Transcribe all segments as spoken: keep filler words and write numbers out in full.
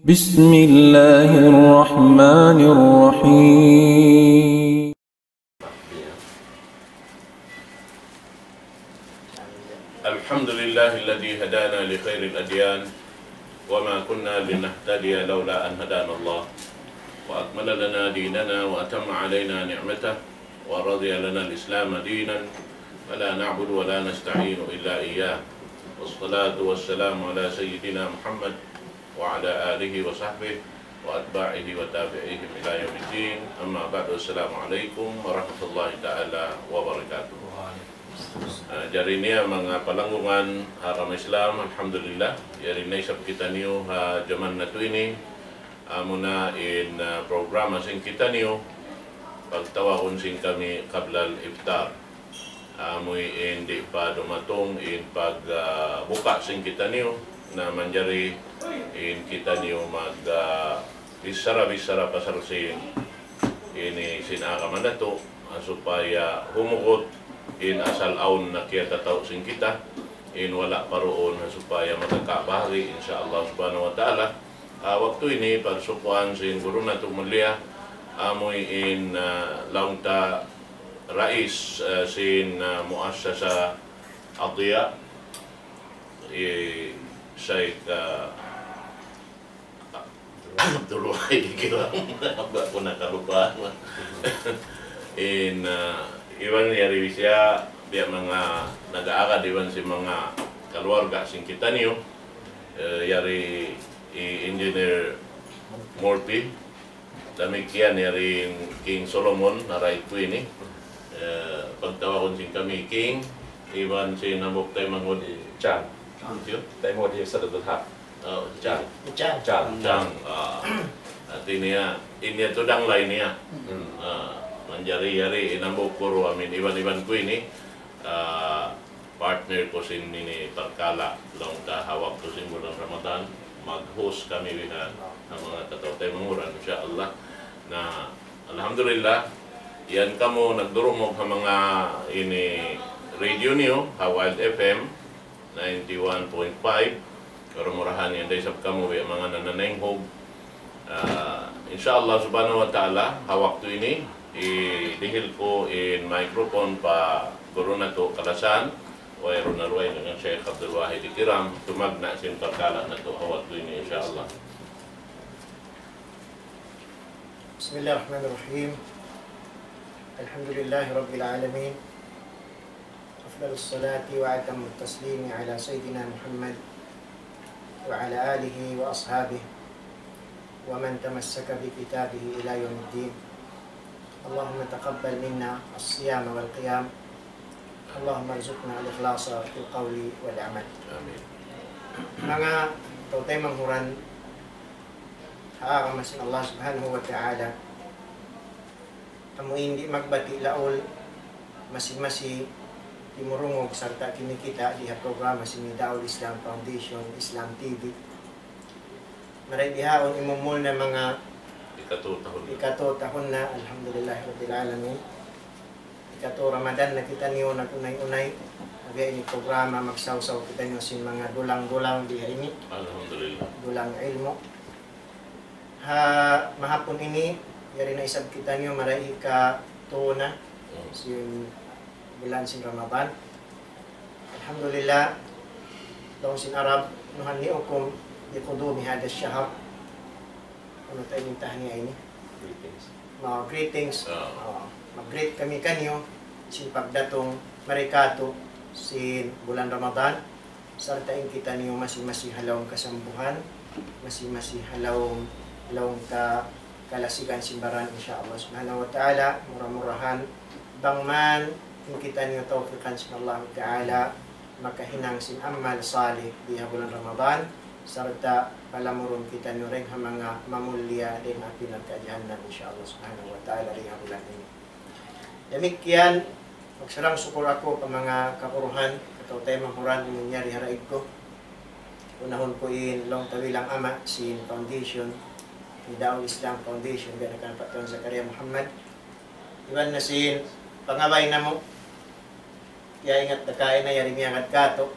بسم الله الرحمن الرحيم. الحمد لله الذي هدانا لخير الأديان وما كنا لنهتدي لولا أن هدانا الله وأكمل لنا ديننا وأتم علينا نعمته ورضي لنا الإسلام دينا ولا نعبد ولا نستعين إلا إياه والصلاة والسلام على سيدنا محمد وعلى آله وصحبه وأتباعه وتابعيهم إلى يوم الدين. أما بعد، السلام عليكم ورحمة الله تعالى وبركاته. Ah, jari niya manga palanggungan ha agama Islam, alhamdulillah, yari na isab kitaniyu ha jaman natu' ini, amuna in, ah, programa sin kitaniyu, pagtawagun sin kami qablal iftar. Amu in di' pa dumatung in pag, ah, buka sin kitaniyu, na manjari in kitaniyu mag, ah, bichara-bichara pasal sin ini sin agama natu', ah, supaya humugut in asal awn na kiyatataw sin kita, in wala' pa duun, ah, supaya makakabahagi, insya Allah subhanahu wa ta'ala. Ah, waktu ini, pagsukuan sin guru natu' mulia, amu in, ah, laung ta rais, ah, sin, ah, muassasa Adya, eh, Shaykh, ah, Abdul Wahid Kiram. Ba ku nakalupa. In, ah, iban yari siya, biya' manga nag-aagad iban sin manga kaluarga sin kitaniyu, eh, yari i Engineer Murphy, damikkiyan yari King Solomon, na right ku ini. Eh, pagtawagun sin kami King, iban sin hambuuk taymanghud Chang. Chang. Siyu? Taymanghud Sadadul Haq. Oh, Chang. Chang. Chang. Chang. Ah. Hati niya, ini yadtu dangla ini ya. Hmm. Ah, manjari yari in hambuuk guru amin iban-iban ku ini. Ah, partner ku sin ini parkala', laung ta ha waktu sin bulan Ramadan, mag-host kami bihan ha manga kataw-taymanghuran, insya Allah. Na, alhamdulillah, yan kamu nagdurungug ha manga ini radio niyu, ha Wild F M ninety-one point five, mura-murahan yan da isab kamu biya' manga nananaynghug. Ah, insya Allah subhanahu wa ta'ala, ha waktu ini, idihil ku in microphone pa guru natu' kalasahan, wayruun na dugaing dayn kan Shaykh Abdul Wahid Kiram, tumagna' sin parkala' natu' ha waktu ini, insya Allah. بسم الله الرحمن الرحيم. الحمد لله رب العالمين. أفضل الصلاة وأتم التسليم على سيدنا محمد وعلى آله وأصحابه ومن تمسك بكتابه إلى يوم الدين. اللهم تقبل منا الصيام والقيام. اللهم ارزقنا الإخلاص في القول والعمل. Amin. Manga kataw-taymanghuran ha agama sin Allah Subhanahu wa Ta'ala, amu in di' magbati' laul, masi-masi timurungug sarta' kimikita' di ha programa sin Nida'ul Islam Foundation, Islam T V. Marayaw bihaun imumul na manga ikatu tahun na. Ikatu tahun na, alhamdulillah rabbil alamin. Ikatu Ramadan na kitaniyu nag-unay-unay. Biya' ini programa, magsawsaw kitaniyu sin manga dulang-dulang biya' ini. Alhamdulillah. Dulang ilmu'. Ha mahapun ini, yari na isab kitaniyu marayaw ikatu na. Hmm. Sin bulan sin Ramadan. Alhamdulillah, laung sin Arab, نهنئكم بقدوم هذا الشهر. Unu ta ini tahniya ini? Greetings. Ma-, greetings. Ah. Ah, mag-greet kami kaniyu sin pagdatung mari katu' sin bulan Ramadan. Sarta' in kitaniyu masi-masi ha lawm kasambuhan, masi-masi ha lawm, ha lawm ka-, kalasigan sin baran, insya Allah Subhanahu wa Ta'ala, mura-murahan, bang man in kitaniyu tawfikan sin Allah Ta'ala, makahinang sin amal salih di ha bulan Ramadan, sarta' palamurun kitaniyu dayn ha manga mamulliya dayn ha api narka' jahannam, insya Allah Subhanahu wa Ta'ala, dayn ha bulan ini. Damikkiyan, magsarang-sukul aku pa manga kaguruhan, kataw-taymanghuran, amun yari ha raig ku. Unahun ku in laung ta bilang ama' sin foundation, Nida'ul Islam Foundation, biya' na kan Pak Tuan Zakaria Muhammad. Iban na sin pangabay namu', kiyaingat da kaina yari miyagad katu',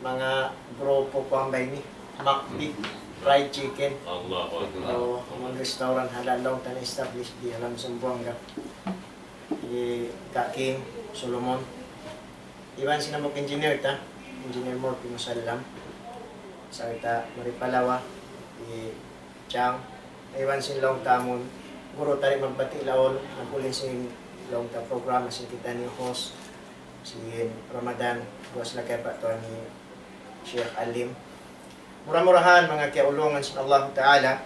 manga grupo kuwan bay ini, MACD. Fried chicken. Allahu Akbar. O, amun restaurant halal laung ta na-establish di ha lawm Zamboanga. Hi Kaking Solomon. Iban sin hambuuk engineer ta, Engineer Murphy Musallam. Sarta' mari pa Lawa, hi Chang. Iban sin laung ta amun guru ta di magbati' laung, nag-ulin sin laung ta programa sin kitaniyu host, sin Ramadan, buwas lagi pa tuwan ni Sheikh Alim. Mura-murahan manga kiyaulungan sin Allahu Ta'ala,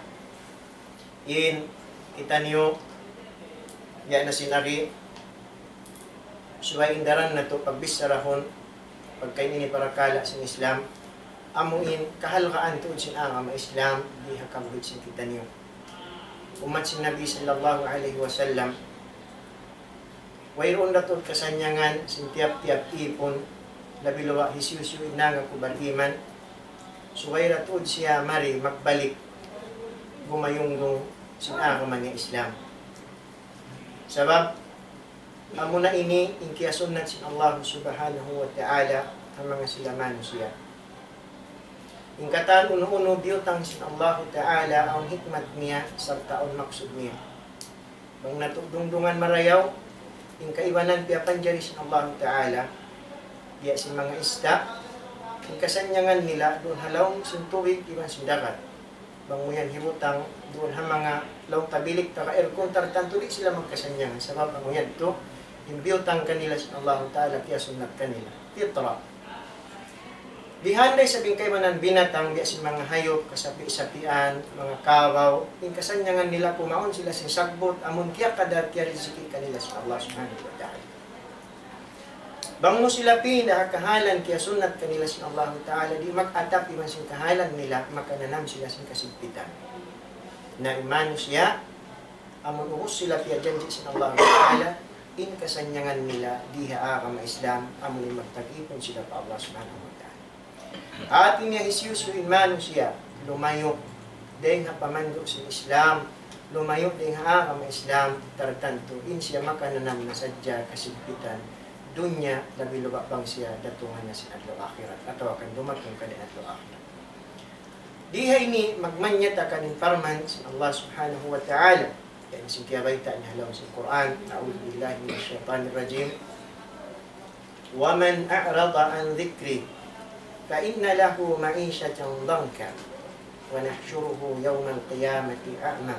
in kitaniyu, ya na sin agi, subay in daran natu' pagbichara hun, pagka ini parakala' sin Islam, amu in kahalgaan tuud sin agama Islam, di ha kabuhi' sin kitaniyu. Ummat sin Nabi sallallahu alayhi wasallam, wayruun da tuud kasannyangan sin tiyap-tiyap ipun, labi luba' hisiyu-siyu in nangaku bariman, subay da tuud siya mari magbalik gumayunggung sin agama niya Islam. Sabab, amuna ini in kiyasunnat sin Allah Subhanahu wa Ta'ala ha manga sila manusiya'. In katan unu-unu biyutang sin Allah Ta'ala awn hikmat niya sarta' awn maksud niya. Bang natu' dungdungan marayaw, in kaibanan piyapanjari sin Allahu Ta'ala, biya' sin manga ista', in kasannyangan nila duun ha lawm sin tubig iban sin dagat. Bang mu yan hibutang duun ha manga lawm ta bilik taga aircon, tartantu di' sila magkasannyangan. Sabab amu yadtu, in biyutang kanila sin Allahu Ta'ala, kiyasunnat kanila. Fitra. Bihan da isab in kaibanan binatang, biya' sin manga hayup, kasapi-sapian, manga kabaw, in kasannyangan nila kumaun sila sin sagbut, amun kiyakadar kiyariziki kanila sin Allah Subhanahu wa Ta'ala. Bang mu sila pinda ha kahalan kiyasunnat kanila sin Allah Ta'ala, di' mag-atap iban sin kahalan nila, makananam sila sin kasigpitan. Na in manusiya', amun ubus sila piyajanji' sin Allah Ta'ala, in kasannyangan nila di ha agama Islam, amun in magtag-ipun sila pa Allah Subhanahu wa Ta'ala. Hati niya hisiyu-siyu in manusiya', lumayu' dayng ha pamandu' sin Islam, lumayu' dayng ha agama Islam, tartantu, in siya makananam na sadja kasigpitan, dunya, labi luba' bang siya datungan na sin adlaw akhirat, atawa kan dumatung ka na adlaw akhirat. Di ha ini magmanyata kan in parman sin Allah Subhanahu wa Ta'ala. Yan sin kiyabayta' niya ha lawm sin Qur'an. أعوذ بالله من الشيطان الرجيم. ومن أعرض عن ذكري فإن له معيشة ضنكا ونحشره يوم القيامة أعمى.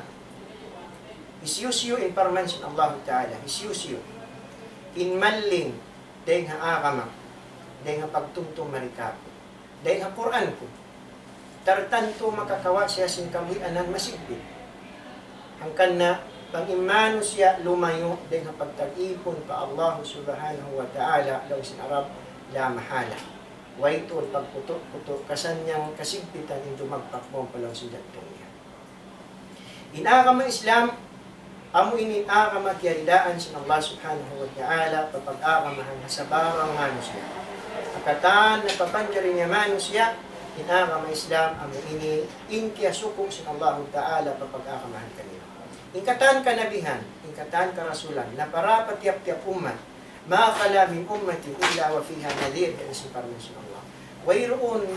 Hisiyu-siyu in parman sin Allah Ta'ala, hisiyu-siyu in malling dayng ha agama, dayng ha pagtumtum mari kāku', dayng ha Qur'an ku, tartantu makakawa' siya sin kabuhianan masigpit. Hangkan na bang in manusiya' lumayu' dayng ha pagtag-ipun pa Allah Subhanahu wa Ta'ala, laung sin Arab, la mahala. Way tuud pagkutu'-kutu', kasannyang kasigpitan in dumagpak mawn pa lawm sin jantung niya. In agama Islam, amu ini in agama kiyaridaan sin Allah Subhanahu wa Ta'ala, papag-agamahan ha sabarang manusiya'. Ha katan napapanjari niya manusiya', in agama Islam, amu ini in kiyasuku' sin Allah Ta'ala, papag-agamahan kanila. In katan kanabihan, in katan karasulan, napara pa tiyap-tiyap ummat, ما خلا من أمة إلا وفيها نذير, yan in parman sin Allah. Wayruun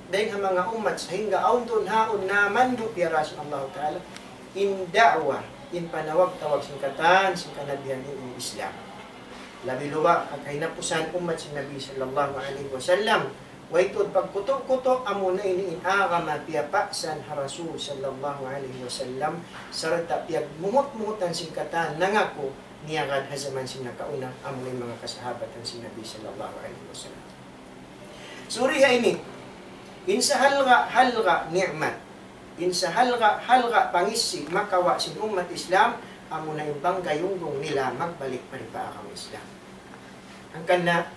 dayng ha manga ummat sahingga awn duun ha yaun namandu' piyara sin Allah Ta'ala in da'wa, in panawag-tawag sin katan sin kanabihan in Islam. Labi luba' ha kahinapusan ummat sin Nabi sallallahu alayhi wasallam, way tuud pagkutu'-kutu', amuna ini in agama piyapaksan ha Rasul sallallahu alayhi wasallam, sarta' piyagmuhut-muhutan sin katan nangaku niyagad ha jaman sin nakauna, amuna in manga kasahabatan sin Nabi sallallahu alayhi wasallam. Suri ha ini, in sahalga'-halga' ni'mat, in sahalga'-halga' pangisi' makawa' sin ummat Islam, amuna in bang gayunggung nila magbalik pa agama Islam. Hangkan na,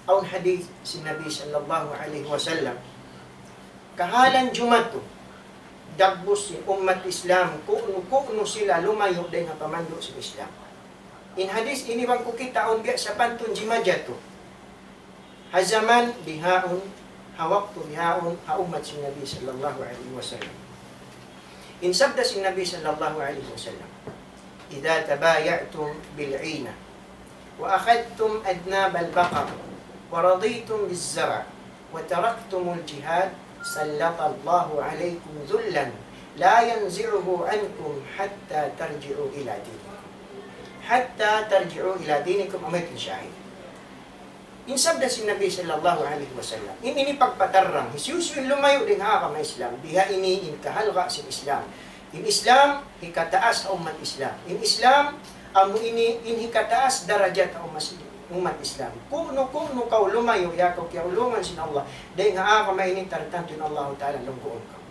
awn hadith sin Nabi sallallahu alayhi wasallam, kahalan jumatu, dagbus sin ummat Islam, ku'nu-ku'nu sila lumayu' dayng ha pamandu' sin Islam. In hadith ini bang ku kita' awn biya' sapantun jimatu ha jaman bihaun, ha waktu bihaun, ha ummat sin Nabi sallallahu alayhi wasallam. In sabda sin Nabi sallallahu alayhi wasallam, إذا تبايعتم بالعينة وأخذتم أذناب البقر ورضيتم بالزرع وتركتم الجهاد سلط الله عليكم ذلا لا ينزعه عنكم حتى ترجعوا إلى دينكم. حتى ترجعوا إلى دينكم, amu yan in shahid. In sabda sin Nabi sallallahu alayhi wasallam, in ini pagpatarrang, hisiyu-siyu in lumayu' dayn ha agama Islam, biha ini in kahalga' sin Islam. In Islam, hikataas ha ummat Islam. In Islam, amu ini in hikataas darajat ha ummat, ummat Islam. Kunu-kunu kaw lumayu', ya kaw kiyaulungan sin Allah, dayn ha agama ini, tartantu in Allahu Ta'ala lungguun kaw.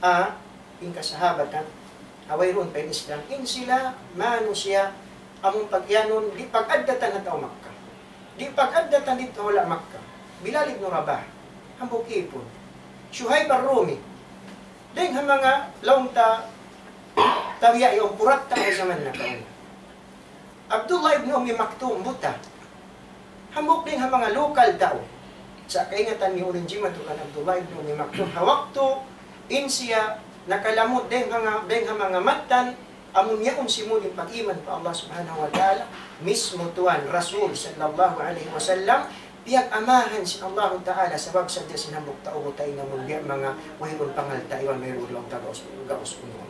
A, in kasahabatan, a, wayruun pa in Islam, in sila manusiya', amun pag-iyanun, di' pag-addatan ha tau Makkah. Di' pag-addatan didtu ha hula' Makkah. Bilal ibn Rabah, hambuuk ipun. Suhaib ar-Rumi, dayn ha manga laung ta tabiya' yaun, kuratta ha jaman nakauna. Abdullah ibn Ummi Maktum, buta. Hambuuk dayn ha manga lokal tau. Sa' kaingatan niyu unu in jimatu kan Abdullah ibn Ummi Maktum. Ha waktu in siya nakalamud dayn ha manga, dayn ha manga mattan, amun yaun simud in pag-iman pa Allah Subhanahu wa Ta'ala, mismu Tuhan Rasul sallallahu alayhi wasallam, piyag-amahan sin Allahu Ta'ala sabab sadja sin hambuuk tau buta ini amun biya' manga wayruun pangalta' iban wayruun laung ta gaus, gaus unu.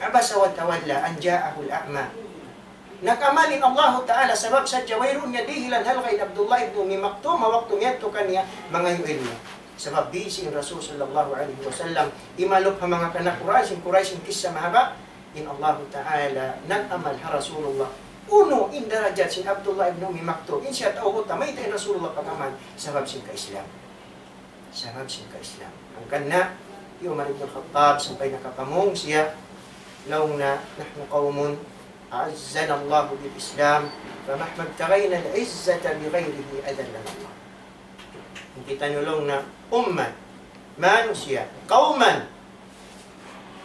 عبس وتولى أن جاءه الأعمى. Nag-amal in Allahu Ta'ala sabab sadja wayruun niya dihilan halga' in Abdullah ibn Ummi Maktum ha waktu miyadtu kaniya mangayu' ilmu'. Sabab bisi in Rasul sallallahu alayhi wasallam imalup ha manga kana Quraysh, in Quraysh in kissa mahaba', in Allahu Ta'ala nag-amal ha Rasulullah. Unu in darajat sin Abdullah ibn Ummi Maktum, in siya tau buta, mayta' in Rasulullah pag-amal, sabab sin ka-Islam. Sabab sin ka-Islam. Hangkan na, hi Umar ibn Khattab sampay nakapamung siya, laung niya, نحن قوم أعزنا الله بالإسلام، فمهما ابتغينا العزة بغيره أذلنا الله. In kitaniyu laung niya, ummat, manusiya', قوم،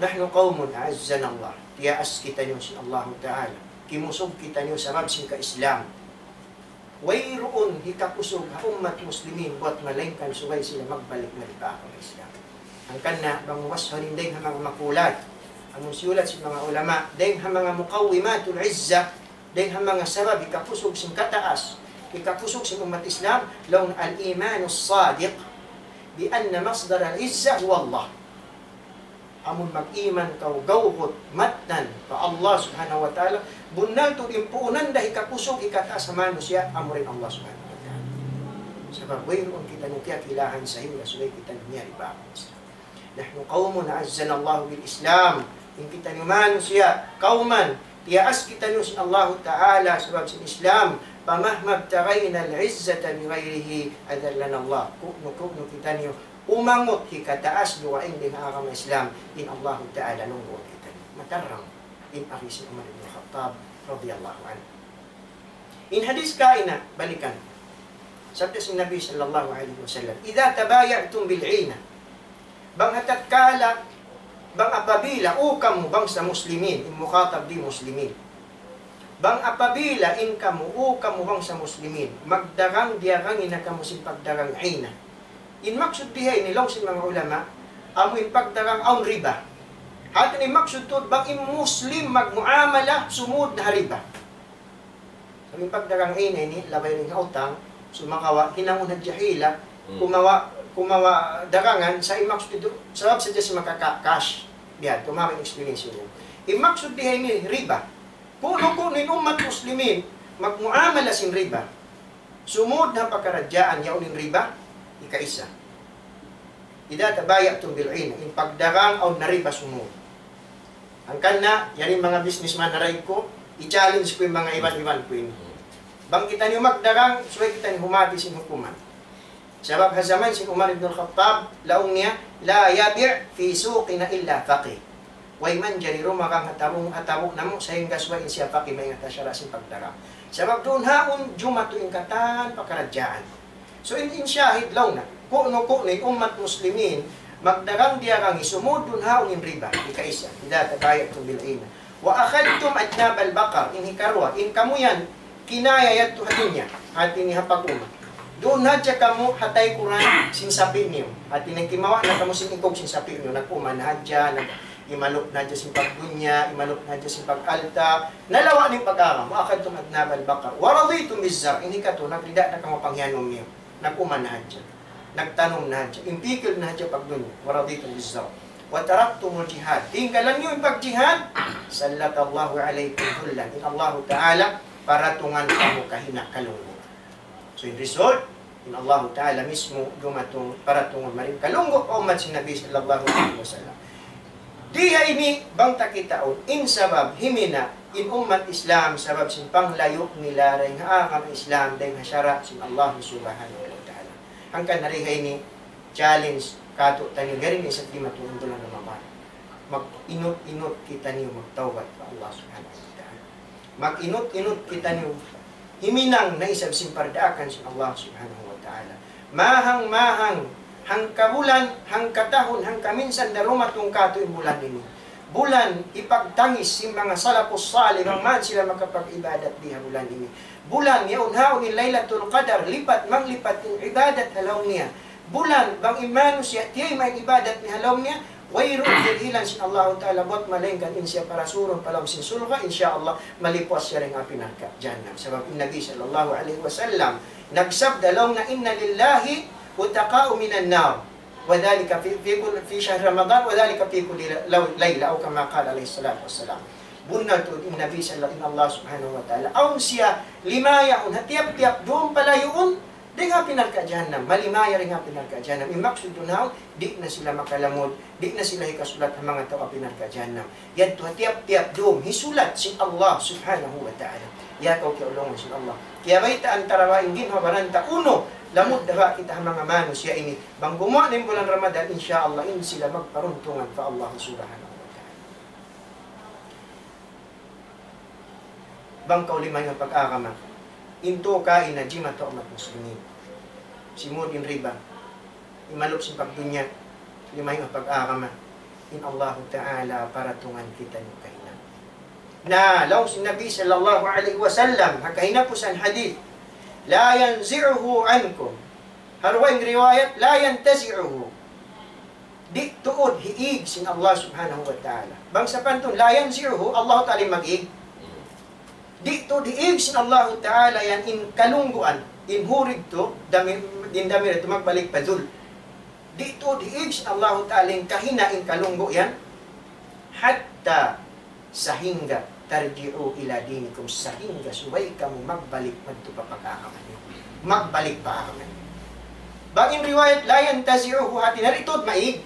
نحن قوم أعزنا الله. Tiyaas kitaniyu sin Allahu Ta'ala. Kimusug kitaniyu sabab sin ka-Islam. Wayruun hikakusug ha ummat muslimin buwat malaingkan subay sila magbalik mari pa agama Islam. Hangkan na bang wasfan in dayn ha manga makulay, amun siyulat sin manga ulama, dayn ha manga muqawwimatul izza, dayn ha manga sabab hikakusug sin kataas, hikakusug sin ummat Islam, laung الإيمان الصادق بأن مصدر العزة هو الله. Amun mag-iman kaw gawgut mattan pa Allah Subhanahu wa Ta'ala, bunnal tuud in puunan da hikakusug, hikataas ha manusiya', amura in Allah Subhanahu wa Ta'ala. Sabab wayruun kitaniyu kiyakilahan sahingga subay kitaniyu miyari pa agama Islam. نحن قوم أعزنا الله بالإسلام. In kitaniyu manusiya', قوما, tiyaas kitaniyu sin Allahu Ta'ala sabab sin Islam. فمهما ابتغينا العزة بغيره أذلنا الله. Kunu-kunu kitaniyu umangut hikataas dugaing dayn ha agama Islam, in Allahu Ta'ala lungguun kitaniyu. Matarrang in agi sin Umar ibn Khattab radiyallahu anhu. In hadith kaina, balikan. Sabda sin Nabi sallallahu alayhi wasallam, إذا تبايعتم بالعينة. Bang ha tatkala, bang apabila, O kamu bangsa muslimin, in mukhatab di muslimin. Bang apabila in kamu, O kamu bangsa muslimin, magdagang diyagangi na kamu sin pagdagang ina. In maksud diha ini laung sin manga ulama, amu in pagdagang awn riba. Hati niya in maksud tuud bang in muslim magmuamala sumud na ha riba. Sabab in pagdagang ina ini, labay dayn ha utang, sumagawa', hinangun hadja hila, Hmm. kumawa', kumawa' dagangan, sa' in maksud tuud, sabab sadja siya makaka-cash. Biya' ha yan, kumawa' in explanation niya. In maksud diha ini riba. Kunu-kunu in ummat muslimin, magmuamala sin riba. Sumud na pakaradjaan yaun in riba, ikaisa. إذا تبايعتم بالعينة, in pagdagang awn na riba sumud. Hangkan na, yari manga businessman na raig ku, i-challenge ku in manga iban-iban ku ini. Bang kitaniyu magdagang, subay kitaniyu humati sin hukuman. Sabab ha jaman sin Umar ibn al-Khattab, laung niya, لا يبع في سوقنا إلا فقيه. Way manjari dumagang ha tabu', ha tabu' namu' sahingga subay in siya faqih maingat ha sara' sin pagdagang. Sabab duun haun jumatu in katan pakaradjaan. So in, in shahid laung niya, kunu-kunu in ummat muslimin, magdagang diyagangi sumud duun haun in riba, ikaisa, إذا تبايعتم بالعينة. وأخذتم أذناب البقر, in hikaruwa, in kamu yan, kinaya yadtu ha dunya, hati niya ha pag-uma. Duun hadja kamu ha taykuran sin sapi' niyu. Hati niya kimawa' na kamu sin ikug sin sapi' niyu, nag-uma na hadja, nag-, imalup na hadja sin pagdunya, imalup na hadja sin pag-alta', nalawa' na in pag-agama, وأخذتم أذناب البقر ورضيتم بالزرع, in hikatu, nagrida na kamu panghiyanum niyu, nag-uma na hadja. Nagtanum na hadja, impikil na hadja pagdunya, ورضيتم بالزرع وتركتم الجهاد. Tinggalan niyu in pagjihad, سلط الله عليكم ذلا. In Allahu Ta'ala paratungan kamu kahina' kalunggu'. So, in result, in Allahu Ta'ala mismu dumatung paratungan mari kalunggu' pa ummat sin Nabi sallallahu alayhi wasallam. Di ha ini bang ta kitaun, in sabab himina' in ummat Islam, sabab sin panglayu' nila dayn ha agama Islam, dayn ha sara' sin Allah Subhanahu wa Ta'ala. Hangkan na di ha ini challenge kātu'niyu, yari na isab dimatung in bulan Ramadan. Mag-inut-inut kitaniyu magtawbat pa Allah Subhanahu wa Ta'ala. Mag-inut-inut kitaniyu himinang na isab sin pardaakan sin Allah Subhanahu wa Ta'ala. Mahang-mahang, hangkabulan, hangkatahun, hangkaminsan da dumatung kātu' in bulan ini. Bulan hipagtangis sin manga salafus salih, bang man sila makapag-ibadat di ha bulan ini. Bulan yaun haun in Laylatul Qadar, lipat manglipat in ibadat ha lawm niya. Bulan, bang in manusiya' tiyayma' in ibadat niya ha lawm niya, wayruun dihilan sin Allahu Ta'ala buat malaingkan in siya parasurun pa lawm sin surga', insya Allah, malipuas siya dayn ha api narka' jahannam. Sabab in Nabi sallallahu alayhi wasallam nagsabda laung niya, إن لله عتقاء من النار وذلك في، في كل، في شهر رمضان وذلك في كل لو-، ليلة أو كما قال عليه الصلاة والسلام. Bunnal tuud in Nabi sallallahu, in Allah Subhanahu wa Ta'ala, awn siya limayaun ha tiyap-tiyap dum palayuun dayn ha api narka' jahannam, malimaya dayn ha api narka' jahannam. In maksud duun haun, di' na sila makalamud, di' na sila hikasulat ha manga tau api narka' jahannam. Yadtu ha tiyap-tiyap dum, hisulat sin Allah Subhanahu wa Ta'ala. Ya kaw kiyaulungan sin Allah. Kiyabaytaan ta ra ba in ginhawa-baran ta unu, lamud da ba kita ha manga manusiya' ini. Bang gumuwa' na in bulan Ramadan, insya Allah, in sila magparuntungan pa Allah Subhanahu wa Ta'ala. Bang kaw limayu' pag-agama, in tū kaina jimatu ummat muslimin. Simud in riba, imalup sin pagdunya, limayu' pag-agama, in Allahu Ta'ala paratungan kitaniyu kahina'. Na, laung sin Nabi sallallahu alayhi wasallam, ha kahinapusan hadith, لا ينزعه عنكم. Ha dugaing riwayat, لا ينتزعه. Di' tuud hiīg sin Allah Subhanahu wa Ta'ala. Bang sapantun, لا ينزعه, Allah Ta'ala in mag-īg. Di' tuud hiīg sin Allahu Ta'ala yan in kalungguan, in hurig tu, damir, in damir yadtu magbalik pa dhul. Di' tuud hiīg sin Allahu Ta'ala in kahina' in kalunggu' yan. حتى, sahingga, ترجعوا إلى دينكم, sahingga subay kamu magbalik madtu pa pag-agama niyu. Magbalik pa agama niyu. Bang in riwayat, لا ينتزعه, hāti niya di' tuud maīg.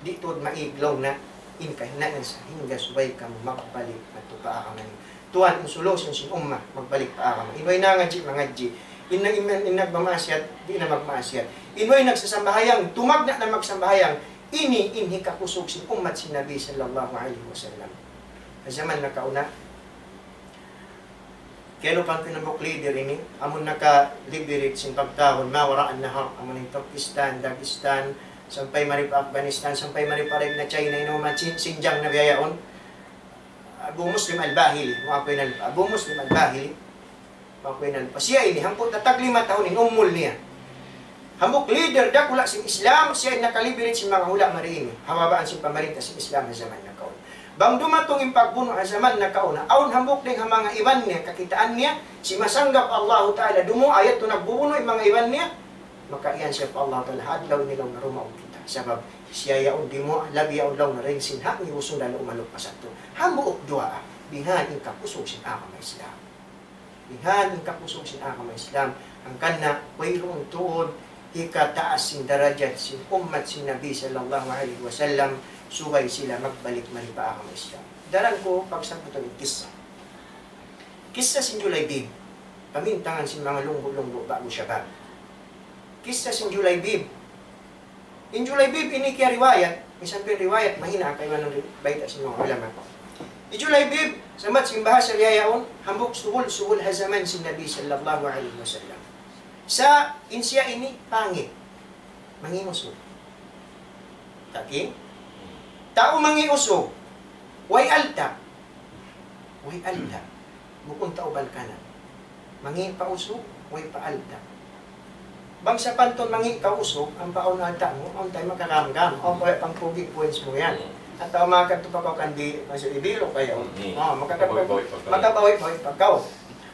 Di' tuud maīg laung niya in kahina' yan sahingga subay kamu magbalik madtu pa agama niyu. Tuwan, in solution sin umma, magbalik pa agama. In way nangadji', mangadji'. In, in, in nagmamaasiyat, di' na magmaasiyat. In way nagsasambahayang, tumagna' na magsambahayang. Ini in hikakusug sin ummat sin Nabi sallallahu alayhi wasallam. Ha jaman nakauna, kiyalupahan ku in hambuuk leader ini, amun naka-liberate sin pagtahun, ما وراء النهر, amun in Turkistan, Dagestan, sampay mari pa Afghanistan, sampay mari pa daig na China, inu ma Chin-, Xinjiang na biya' yaun. Abu Muslim Al-Bahili, muakuin Al-, Abu Muslim Al-Bahili, muakuin Al-, siya ini, hangpu' na tag lima tahun in umul niya. Hambuuk leader dakula' sin Islam, siya in naka-liberate sin manga hula' mari ini. Ha babaan sin pamarinta sin Islam ha jaman nakauna. Bang dumatung in pagbunu' ha jaman nakauna, awn hambuuk dayn ha manga iban niya, kakitaan niya, simasanggap Allahu Ta'ala, dumuwaa yadtu nagbubunu' in manga iban niya, maka iyan siya pa Allahu Ta'ala, ha adlaw ini laung niya dumaug kita. Sabab, siya yaun dimuwaa, labi yaun laung niya dayn sin hak niya usug na umalup pa sadtu. Hambuuk duwaa, bihan in kakusug sin agama Islam. Bihan in kakusug sin agama Islam. Hangkan na, wayruun tuud hikataas sin darajat sin ummat sin Nabi sallallahu alayhi wasallam, subay sila magbalik mari pa agama Islam. Daran ku pagsabbutan in kissa. Kissa sin Julaybib. Pamintangan sin manga lunggu'-lunggu' ba'gu shabab. Kissa sin Julaybib. In Julaybib ini kiyariwayat, misan pa in riwayat, mahina' kaibanan ri-, bayta' sin manga ulama. In Julaybib, sambat sin bahasa biya' yaun, hambuuk subul-subul ha jaman sin Nabi sallallahu alayhi wasallam. Sa' in siya ini pangit, mangi' usug. Taki? Tau mangi' usug, way alta'. Way alta'. Bukun tau balkanan. Mangi' pa usug, way pa alta'. Bang sapantun mangi' kaw usug, ampa awn alta' mu, awn tay makagamgam, awn pa pangkugi' points mu yan. Atawa makadtu pa kaw kan di', masu ibilu kayaw. Hmm. Oh, makakadtu, makabawi-bawi pa kaw. Makabawi-bawi pa kaw.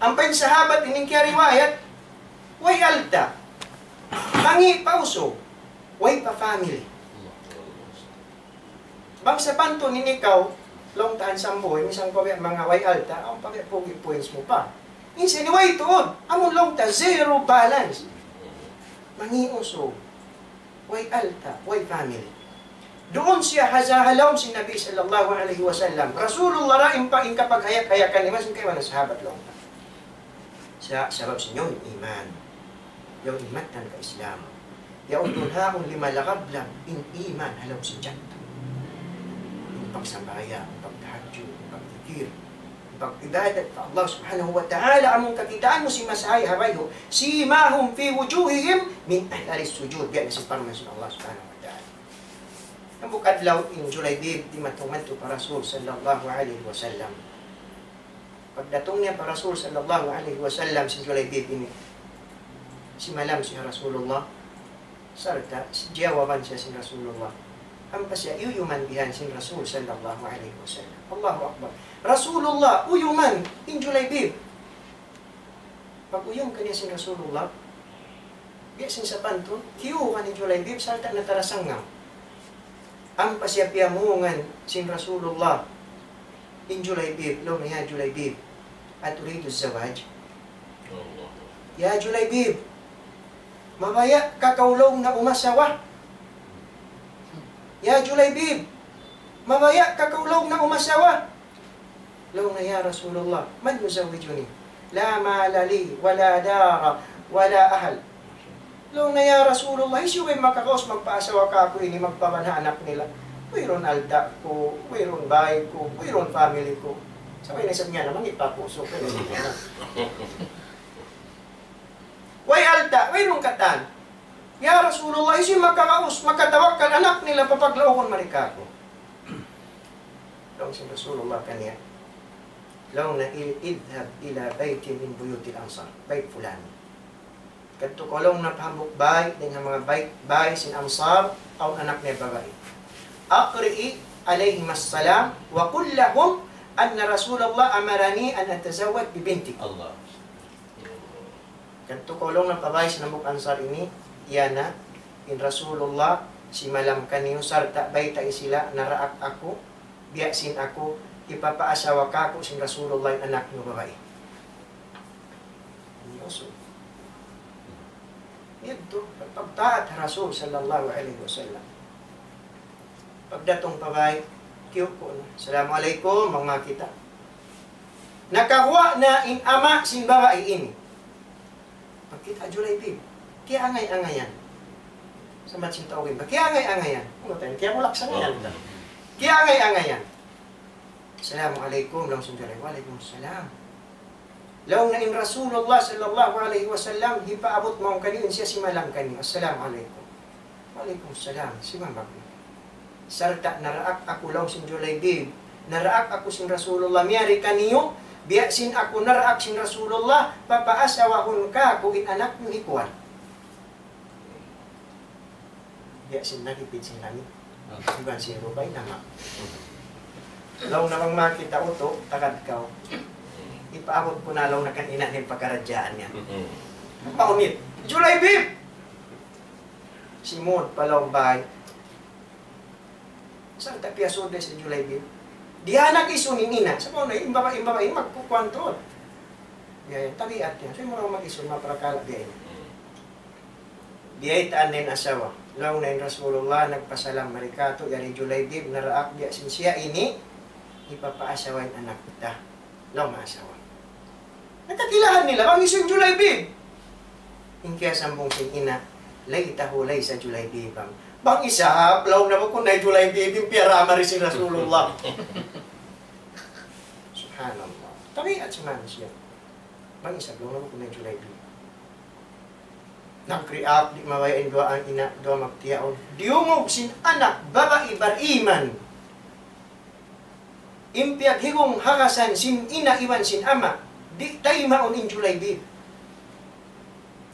Ampa in sahabat ini kiyariwayat, way alta'. Mangi' pa usug, way pa family. Bang sapantun in ikaw, laung ta handsome boy, misan pa biya' manga way alta', awn pa biya' pogi points mu pa. In siya ini way tuud, amun laung ta zero balance. Mangi' usug, way alta', way family. Duun siya ha, ha lawm sin Nabi sallallahu alayhi wasallam. Rasulullah ra in pa, in kapaghayag-hayagan niya, masin kaibanan sahabat laung ta. Sa-, sabab sin yaun iman. Yaun in mattan pa Islam. Yaun duun ha yaun lima lagablab in iman ha lawm sin tiyan ta. In pagsambahayang, in pagtahajjud, in pagdikir, in pag-ibadat pa Allah Subhanahu wa Ta'ala, amun kakitaan mu sin masa ha bayhu', سيماهم في وجوههم من أثر السجود. Biya' na sin parman sin Allah Subhanahu wa Ta'ala. Hambuuk adlaw in Julaybib dimatung madtu pa Rasul sallallahu alayhi wasallam. Pagdatung niya pa Rasul sallallahu alayhi wasallam, si Julaybib ini, simalam siya ha Rasulullah, sarta' si-, jiyawaban siya sin Rasulullah. Ampa siya iyuyuman bihan sin Rasul sallallahu alayhi wasallam. Allahu Akbar. Rasulullah, uyuman in Julaybib. Pag-uyum kaniya sin Rasulullah, biya' sin sapantun, kiyuha' ni Julaybib, sarta' natarasangam. Ampa siya piyamungan sin Rasulullah, in Julaybib, laung niya, "يا جليبيب، أتريد الزواج؟" "Ya Julaybib, mabaya' ka kaw laung na umasawa? Ya Julaybib, mabaya' ka kaw laung na umasawa?" Laung niya, "يا رسول الله، من يزوجني؟ لا مال لي ولا دار ولا أهل." Laung niya, "Ya Rasulullah, hisiyu in makakaus magpaasawa kāku' ini, magpaban ha anak nila? Wayruun alta' ku, wayruun bāy ku, wayruun family ku." Sa' way na isab niya naman, ipapuso ka na siya. Way alta', wayruun katan. "Ya Rasulullah, hisiyu in makakaus, makatawakkal anak nila, papaglaugun mari kāku'?" Laung sin Rasulullah kaniya, laung niya, "اذهب إلى بيت من بيوت الأنصار، بيت فلان." Kadtu kaw laung niya pa hambuuk bāy, dayn ha manga bāy, bāy sin Ansar, awn anak niya babai. أقرئ عليهم السلام وقل لهم أن رسول الله أمرني أن أتزوج ببنتك. Allah. Kadtu kaw laung niya pa bāy sin hambuuk Ansar ini, "Iyana, in Rasulullah simalam kaniyu sarta' baytai sila naraak aku, biya' sin aku, hipapaasawa kāku' sin Rasulullah in anak niyu babai." Ini usug. Yadtu, pagtaat ha Rasul sallallahu alayhi wasallam. Pagdatung pa bāy, kiyuku' na. "Assalamu alaykum," bang makakita'. Nakaguwa' na in ama' sin babai ini. Pagkita' Julaybib, kiyaangay-angayan. Sa' mat sin tau ba, kiyaangay-angayan. Ano tayo, kiyabulak sa ngayan. Kiyaangay-angayan. "Assalamu alaykum," laung sin Julaybib. "Wa alaykum salam." Laung niya, "In Rasulullah sallallahu alayhi wasallam, hipaabut mawn kaniyu, in siya simalam kaniyu. Assalamu alaykum." "Wa alaykum salam." Simambag na. "Sarta' naraak aku," laung sin Julaybib, "naraak aku sin Rasulullah miyari kaniyu, biya' sin aku naraak sin Rasulullah, papaasawahun kāku' in anak niyu hi kuwan." Biya' sin nagipit sin langit. Iban sin rupa in ama'. Laung niya bang makakita' utu', tagad kaw. Ipaabut ku na laung niya kan ina' niya in pakaradjaan niya. Paunit. Julaybib! Simud pa lawm bāy. Sarta' piyasud da isab hi Julaybib. Di' na nag-isun in ina'. Sa' maunu, in babai, in babai, magkukuwan tuud. Biya' yan, tabiat yan. So, in mura mag-isun, maprakala' biya' yan. Biyaytaan na in asawa. Laung na in Rasulullah, nagpasalam mari katu', yari Julaybib, naraak biya' sin siya ini, hipapaasawa in anak ta. Laung maasawa. Nagkakilahan nila, bang isun Julaybib. In kiyasambung sin ina', ليته ليس جليبيبا. Bang isab, laung na bukun na hi Julaybib, in piyara mari sin Rasulullah. Subhanallah. Tabiat sin manusiya'. Bang isab, laung na bukun na hi Julaybib. Nag-react, di' mabaya' in duwaa, in ina', duwaa magtiyaun. Diyungug sin anak babai bariman. In piyaghigungagasan sin ina' iban sin ama', di' taymaun in Julaybib.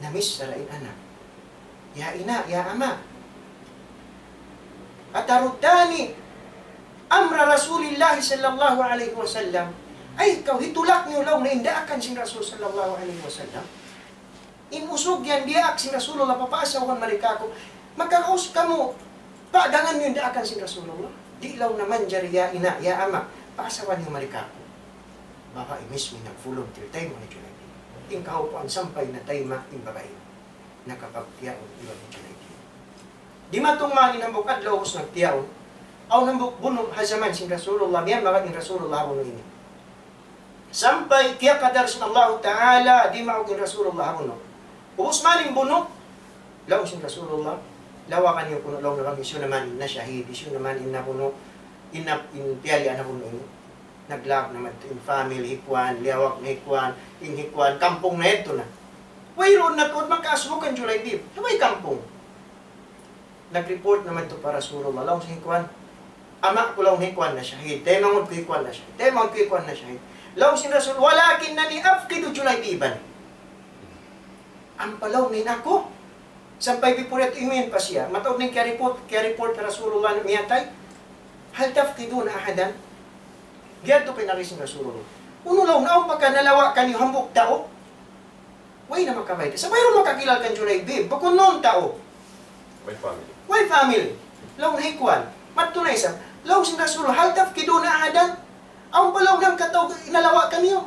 Namiss ra in anak. Ya ina', ya ama'. أتردان أمر رسول الله صلى الله عليه وسلم. Ay, kaw hitulak niyu laung na in daakan sin Rasul sallallahu alayhi wasallam. In usug yan diyaak sin Rasulullah, papaasawahan mari kāku'. Makakaus kamu, paagangan niyu in daakan sin Rasulullah. Di' laung niya manjari, ya ina', ya ama', paasawahan niyu mari kāku'. Babai mismu in nag-volunteer, taymaun hi Julaybib. In kahaupuan sampay na taymaun in babai. Nakapagtiyaun iban hi Julaybib. Dimatung man in hambuuk adlaw ubus nagtiyaun. Awn hambuuk bunu' ha jaman sin Rasulullah, miyamagad in Rasulullah ha bunu' ini. Sampay kiyakadar sin Allahu Ta'ala, dimaug in Rasulullah ha bunu'. Ubus man in bunu', laung sin Rasulullah, lawakan niyu kunu' laung niya bang hisiyu na man in nashahid, hisiyu na man in nabunu', in na, in piyalian ha bunu' ini. Naglawag na madtu in family hi kuwan, liyawag na hi kuwan, in hi kuwan, kampung na yadtu na. Wayruun na tuud makaasubu kan Julaybib. Way kampung. Nag-report na madtu pa Rasulullah. Laung sin hi kuwan, ama' ku laung hi kuwan nashahid. Taymanghud ku hi kuwan nashahid. Taymanghud ku hi kuwan nashahid. Laung sin Rasul, ولكنني أفقد جليبيبا. Ampa laung niya in aku, sampay before yadtu imiyan pa siya. Mataud na in kiya-report, kiya-report pa Rasulullah na miyatay. هل تفقدون أحدا؟ Giyadtu pa in agi sin Rasulullah. Unu laung, awn pa ka nalawa' kaniyu hambuuk tau? Way na makabayta'. Sa' wayruun makakilal kan Julaybib. Bukun na awn tau. Way family. Way family. Laung hi kuwan. Madtu na isab. Laung sin Rasul, هل تفقدون أحدا؟ Awn pa laung hangkatau nalawa' kaniyu?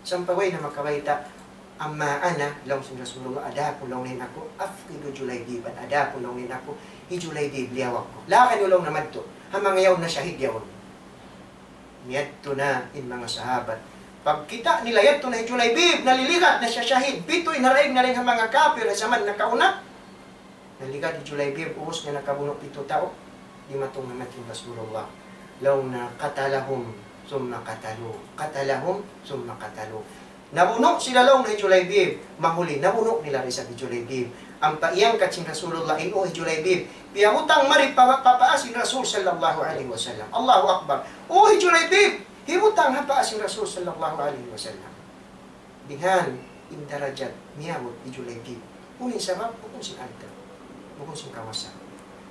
Sampay way na makabayta'. أما أنا, laung sin Rasulullah, adapun laung niya in aku, أفقد جليبيبا, adapun laung niya in aku, hi Julaybib liyawag ku. Lawakan niyu laung niya madtu. Ha manga yaun nashahid yaun. Miyadtu na in manga sahabat. Pagkita' nila yadtu na hi Julaybib, naliligad na siya shahid. Pitu in haraig na dayn ha manga kapir ha jaman nakauna. Naliligad hi Julaybib, ubus niya nakabunu' pitu tau. Dimatung na madtu in Rasulullah. Laung niya قتلهم ثم قتلوه. قتلهم ثم قتلوه. Nabunu' sila laung niya hi Julaybib, mahuli, nabunu' nila da isab hi Julaybib. Ampa iyangkat sin Rasulullah in ū hi Julaybib, piyabutang mari pa, pa paa sin Rasul sallallahu alayhi wasallam. Allahu Akbar. Ū hi Julaybib, hibutang ha paa sin Rasul sallallahu alayhi wasallam. Bihan in darajat miyabut hi Julaybib. Unu in sabab? Bukun sin alta', bukun sin kawasa,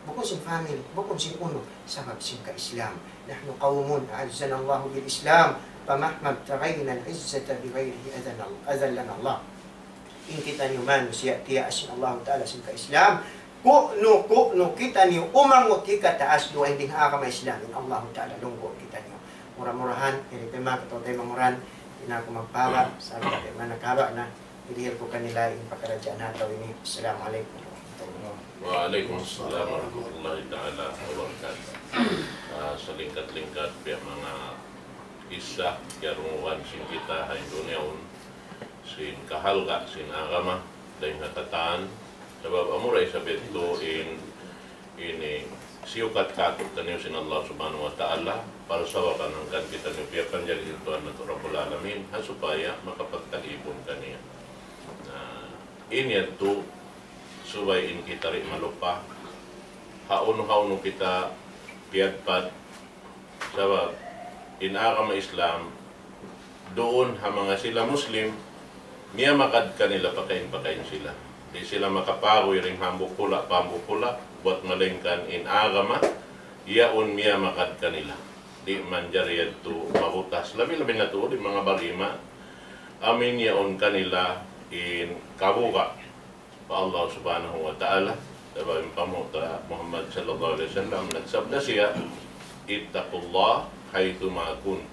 bukun sin family, bukun sin unu, sabab sin ka-Islam. نحن قوم أعزنا الله بالإسلام، فمهما ابتغينا العزة بغيره أذلنا، أذلنا الله. In kitaniyu manusiya' tiyaas sin Allahu Ta'ala sin ka-Islam. Ku'nu, ku'nu kitaniyu umangut hikataas dugaing dayn ha agama Islam, in Allahu Ta'ala lunggu' kitaniyu. Mura-murahan, ini pa in manga kataw-taymanghuran, di' na aku magpahaba', sabab di' man nakahaba' na, hirihil ku kanila in pakaradjaan ha adlaw ini. Assalamu alaykum warahmatullahi. وعليكم السلام ورحمة الله تعالى وبركاته. Ah, salingkat-lingkat biya' manga kissa, kiyarungugan sin kita ha dunya yaun, sin kahalga' sin agama, dayn ha katan, sabab amura isab yadtu in ini siyukat kātu'niyu sin Allah Subhanahu wa Ta'ala, parsababan hangkan kitaniyu piyapanjari sin Tuhan natu' Rabbul Alamin, ha supaya makapagtag-ipun kaniya. Na, ini yadtu, subay in kita di' malupa, hawnu-hawnu kita piyadpad, sabab in agama Islam, duun ha manga sila Muslim, miyamagad kanila pakain-pakain sila. Di' sila makapaguy dayn hambuuk hula' pa hambuuk hula', buwat malaingkan in agama, yaun miyamagad kanila. Di' manjari yadtu mabutas. Labi-labi na tuud in manga bariman, amu in yaun kanila in kabuga' pa Allah Subhanahu wa Ta'ala. Sabab in panghu' ta Muhammad sallallahu alayhi wasallam, nagsabda siya, اتقوا الله حيثما كنتم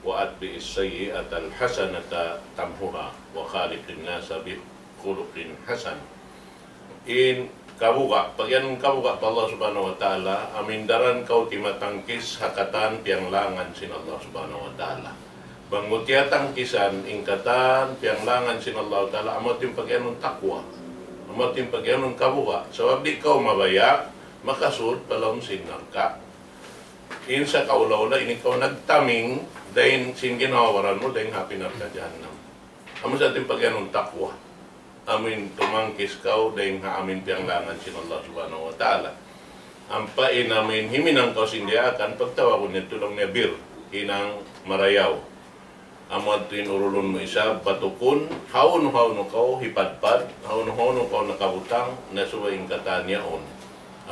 وأتبعوا السيئة الحسنة تمحها وخالق الناس بخلق حسن. In kabuga', pagiyanun kabuga' pa Allah Subhanahu wa Ta'ala, amu in daran kaw timatangkis ha katan piyanglangan sin Allah Subhanahu wa Ta'ala. Bang mu tiyatangkisan in katan piyanglangan sin Allah Ta'ala, amu yadtu in pagiyanun taqwa. Amu yadtu in pagiyanun kabuga'. Sabab di' kaw mabaya' makasud pa lawm sin narka'. In sa kaula-ula ini kaw nagtaming dayn sin ginhawa-baran mu dayn ha api narka' jahannam. Amu sa yadtu in pagiyanun taqwa. Amu in tumangkis kaw dayn ha amu in piyanglangan sin Allah Subhanahu wa Ta'ala. Ampa in amu in himinang kaw sin diyaakan, pagtawagun niya tuud laung niya bir, hinang marayaw. Amu yadtu in urulun mu isab, batukun, hawnu-hawnu kaw hipadpad, hawnu-hawnu kaw nakabutang, na subay in katan yaun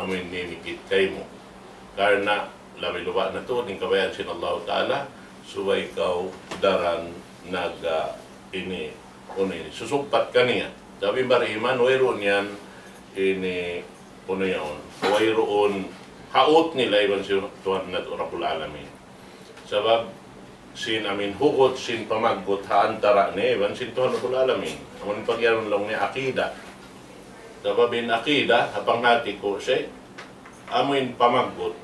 amu in mimikit kaymu. Karna' labi-labi na tuud in kabayaan sin Allah Ta'ala, subay kaw daran nag, ah, ini, unu ini, susugpat kaniya. Sabab in bariman, wayruun yan ini, unu yaun, wayruun haut nila iban sin Tuhan natu' Rabbul Alamin. Sabab sin amin hugut, sin pamaggut ha antara' niya iban sin Tuhan Rabbul Alamin. Amun pagiyanun laung niya akida. Sabab in akida, ha panghati ku, Sheikh, amu in pamaggut.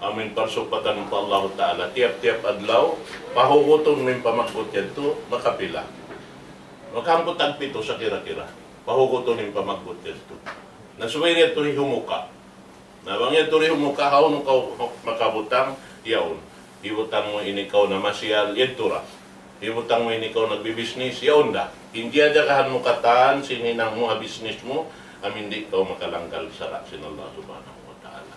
Amu in parsugpatan pa Allahu Ta'ala. Tiyap-tiyap adlaw, pahugutun mu in pamaggut yadtu, makapila. Makahangpu' tagpitu sa kira-kira. Pahugutun in pamaggut yadtu. Na subay yadtu hihumuka. Na bang yadtu hihumuka, hawnu kaw makabutang, yaun. Hibutang mu ini kaw namasiyal, yadtu ra. Hibutang mu ini kaw nagbibisnis, yaun da. In kiyajagahan mu katan, sin hinang mu ha bisnis mu, amu in di' kaw makalanggal sara' sin Allah Subhanahu wa Ta'ala.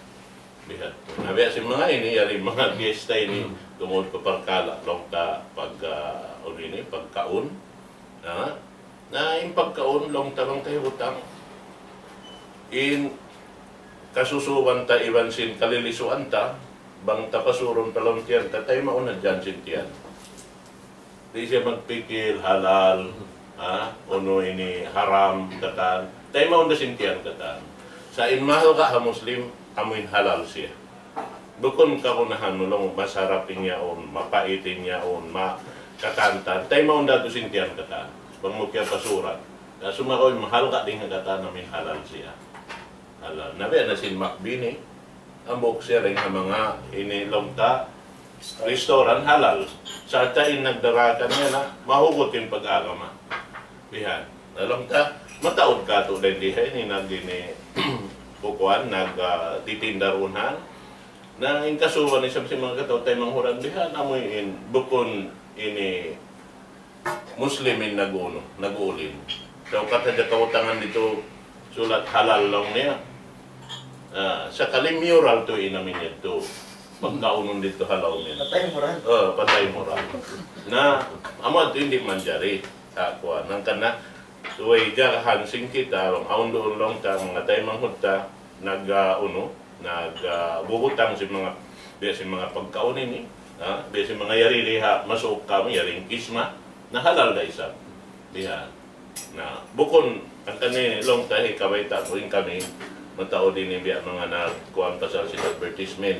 Bihadtu. Na biya' sin manga ini, yari manga gesta ini, tungud pa parkala', laung ta pag, ah, unu ini, pagkaun. Ha? Na in pagkaun, laung ta bang ta hibutang. In kasusuban ta iban sin kalilisuan ta, bang ta pasurun pa lawm tiyan ta, taymaun na dyan sin tiyan. Di' siya magpikil, halal, ha? Unu ini, haram, katan. Taymaun na sin tiyan, katan. Sa' in mahalga' ha Muslim, amu in halal siya. Bukun kagunahan mu laung, masarap in yaun, mapait in yaun, ma-, katan-katan. Taymaun da tuud sin tiyan katan. Bang mu kiyapasuran. Na sumagawa' in mahalga' dayn ha katan amu in halal siya. Halal. Na biya' na sin makbini. Hambuuk siya dayn ha manga ini laung ta restaurant halal. Sarta' in nagdara kaniya na mahugut in pag-agama. Bihan. Na laung ta, mataud katu' dayn di ha ini nag ini kukuan, nag, ah, titinda duun ha. Na in kasuban isab sin manga kataw-taymanghuran bihan, amu in bukun ini Muslim in nag-unu, nag-uulin. Sa' ukat hadja kautangan ditu sulat halal laung niya. Ah, sakali mural tuud in amu in yadtu. Pagkaunun ditu halal niya. Patay mural. Oh, patay mural. Na, amu yadtu di' manjari. Sa' kuwan, hangkan na, subay jagahan sin kita, bang awn duun laung ta, manga taymanghud ta, nag, ah, unu, nag, ah, bubutang sin manga, biya' sin manga pagkaun ini, ha? Biya' sin manga yari di ha, masuuk kamu, yari in kisma, na halal da isab. Bihan. Na, bukun, hangkan ini laung ta, hi, kabayta' ku in kami, mataud ini biya' manga nagkuwan pasal sin advertisement.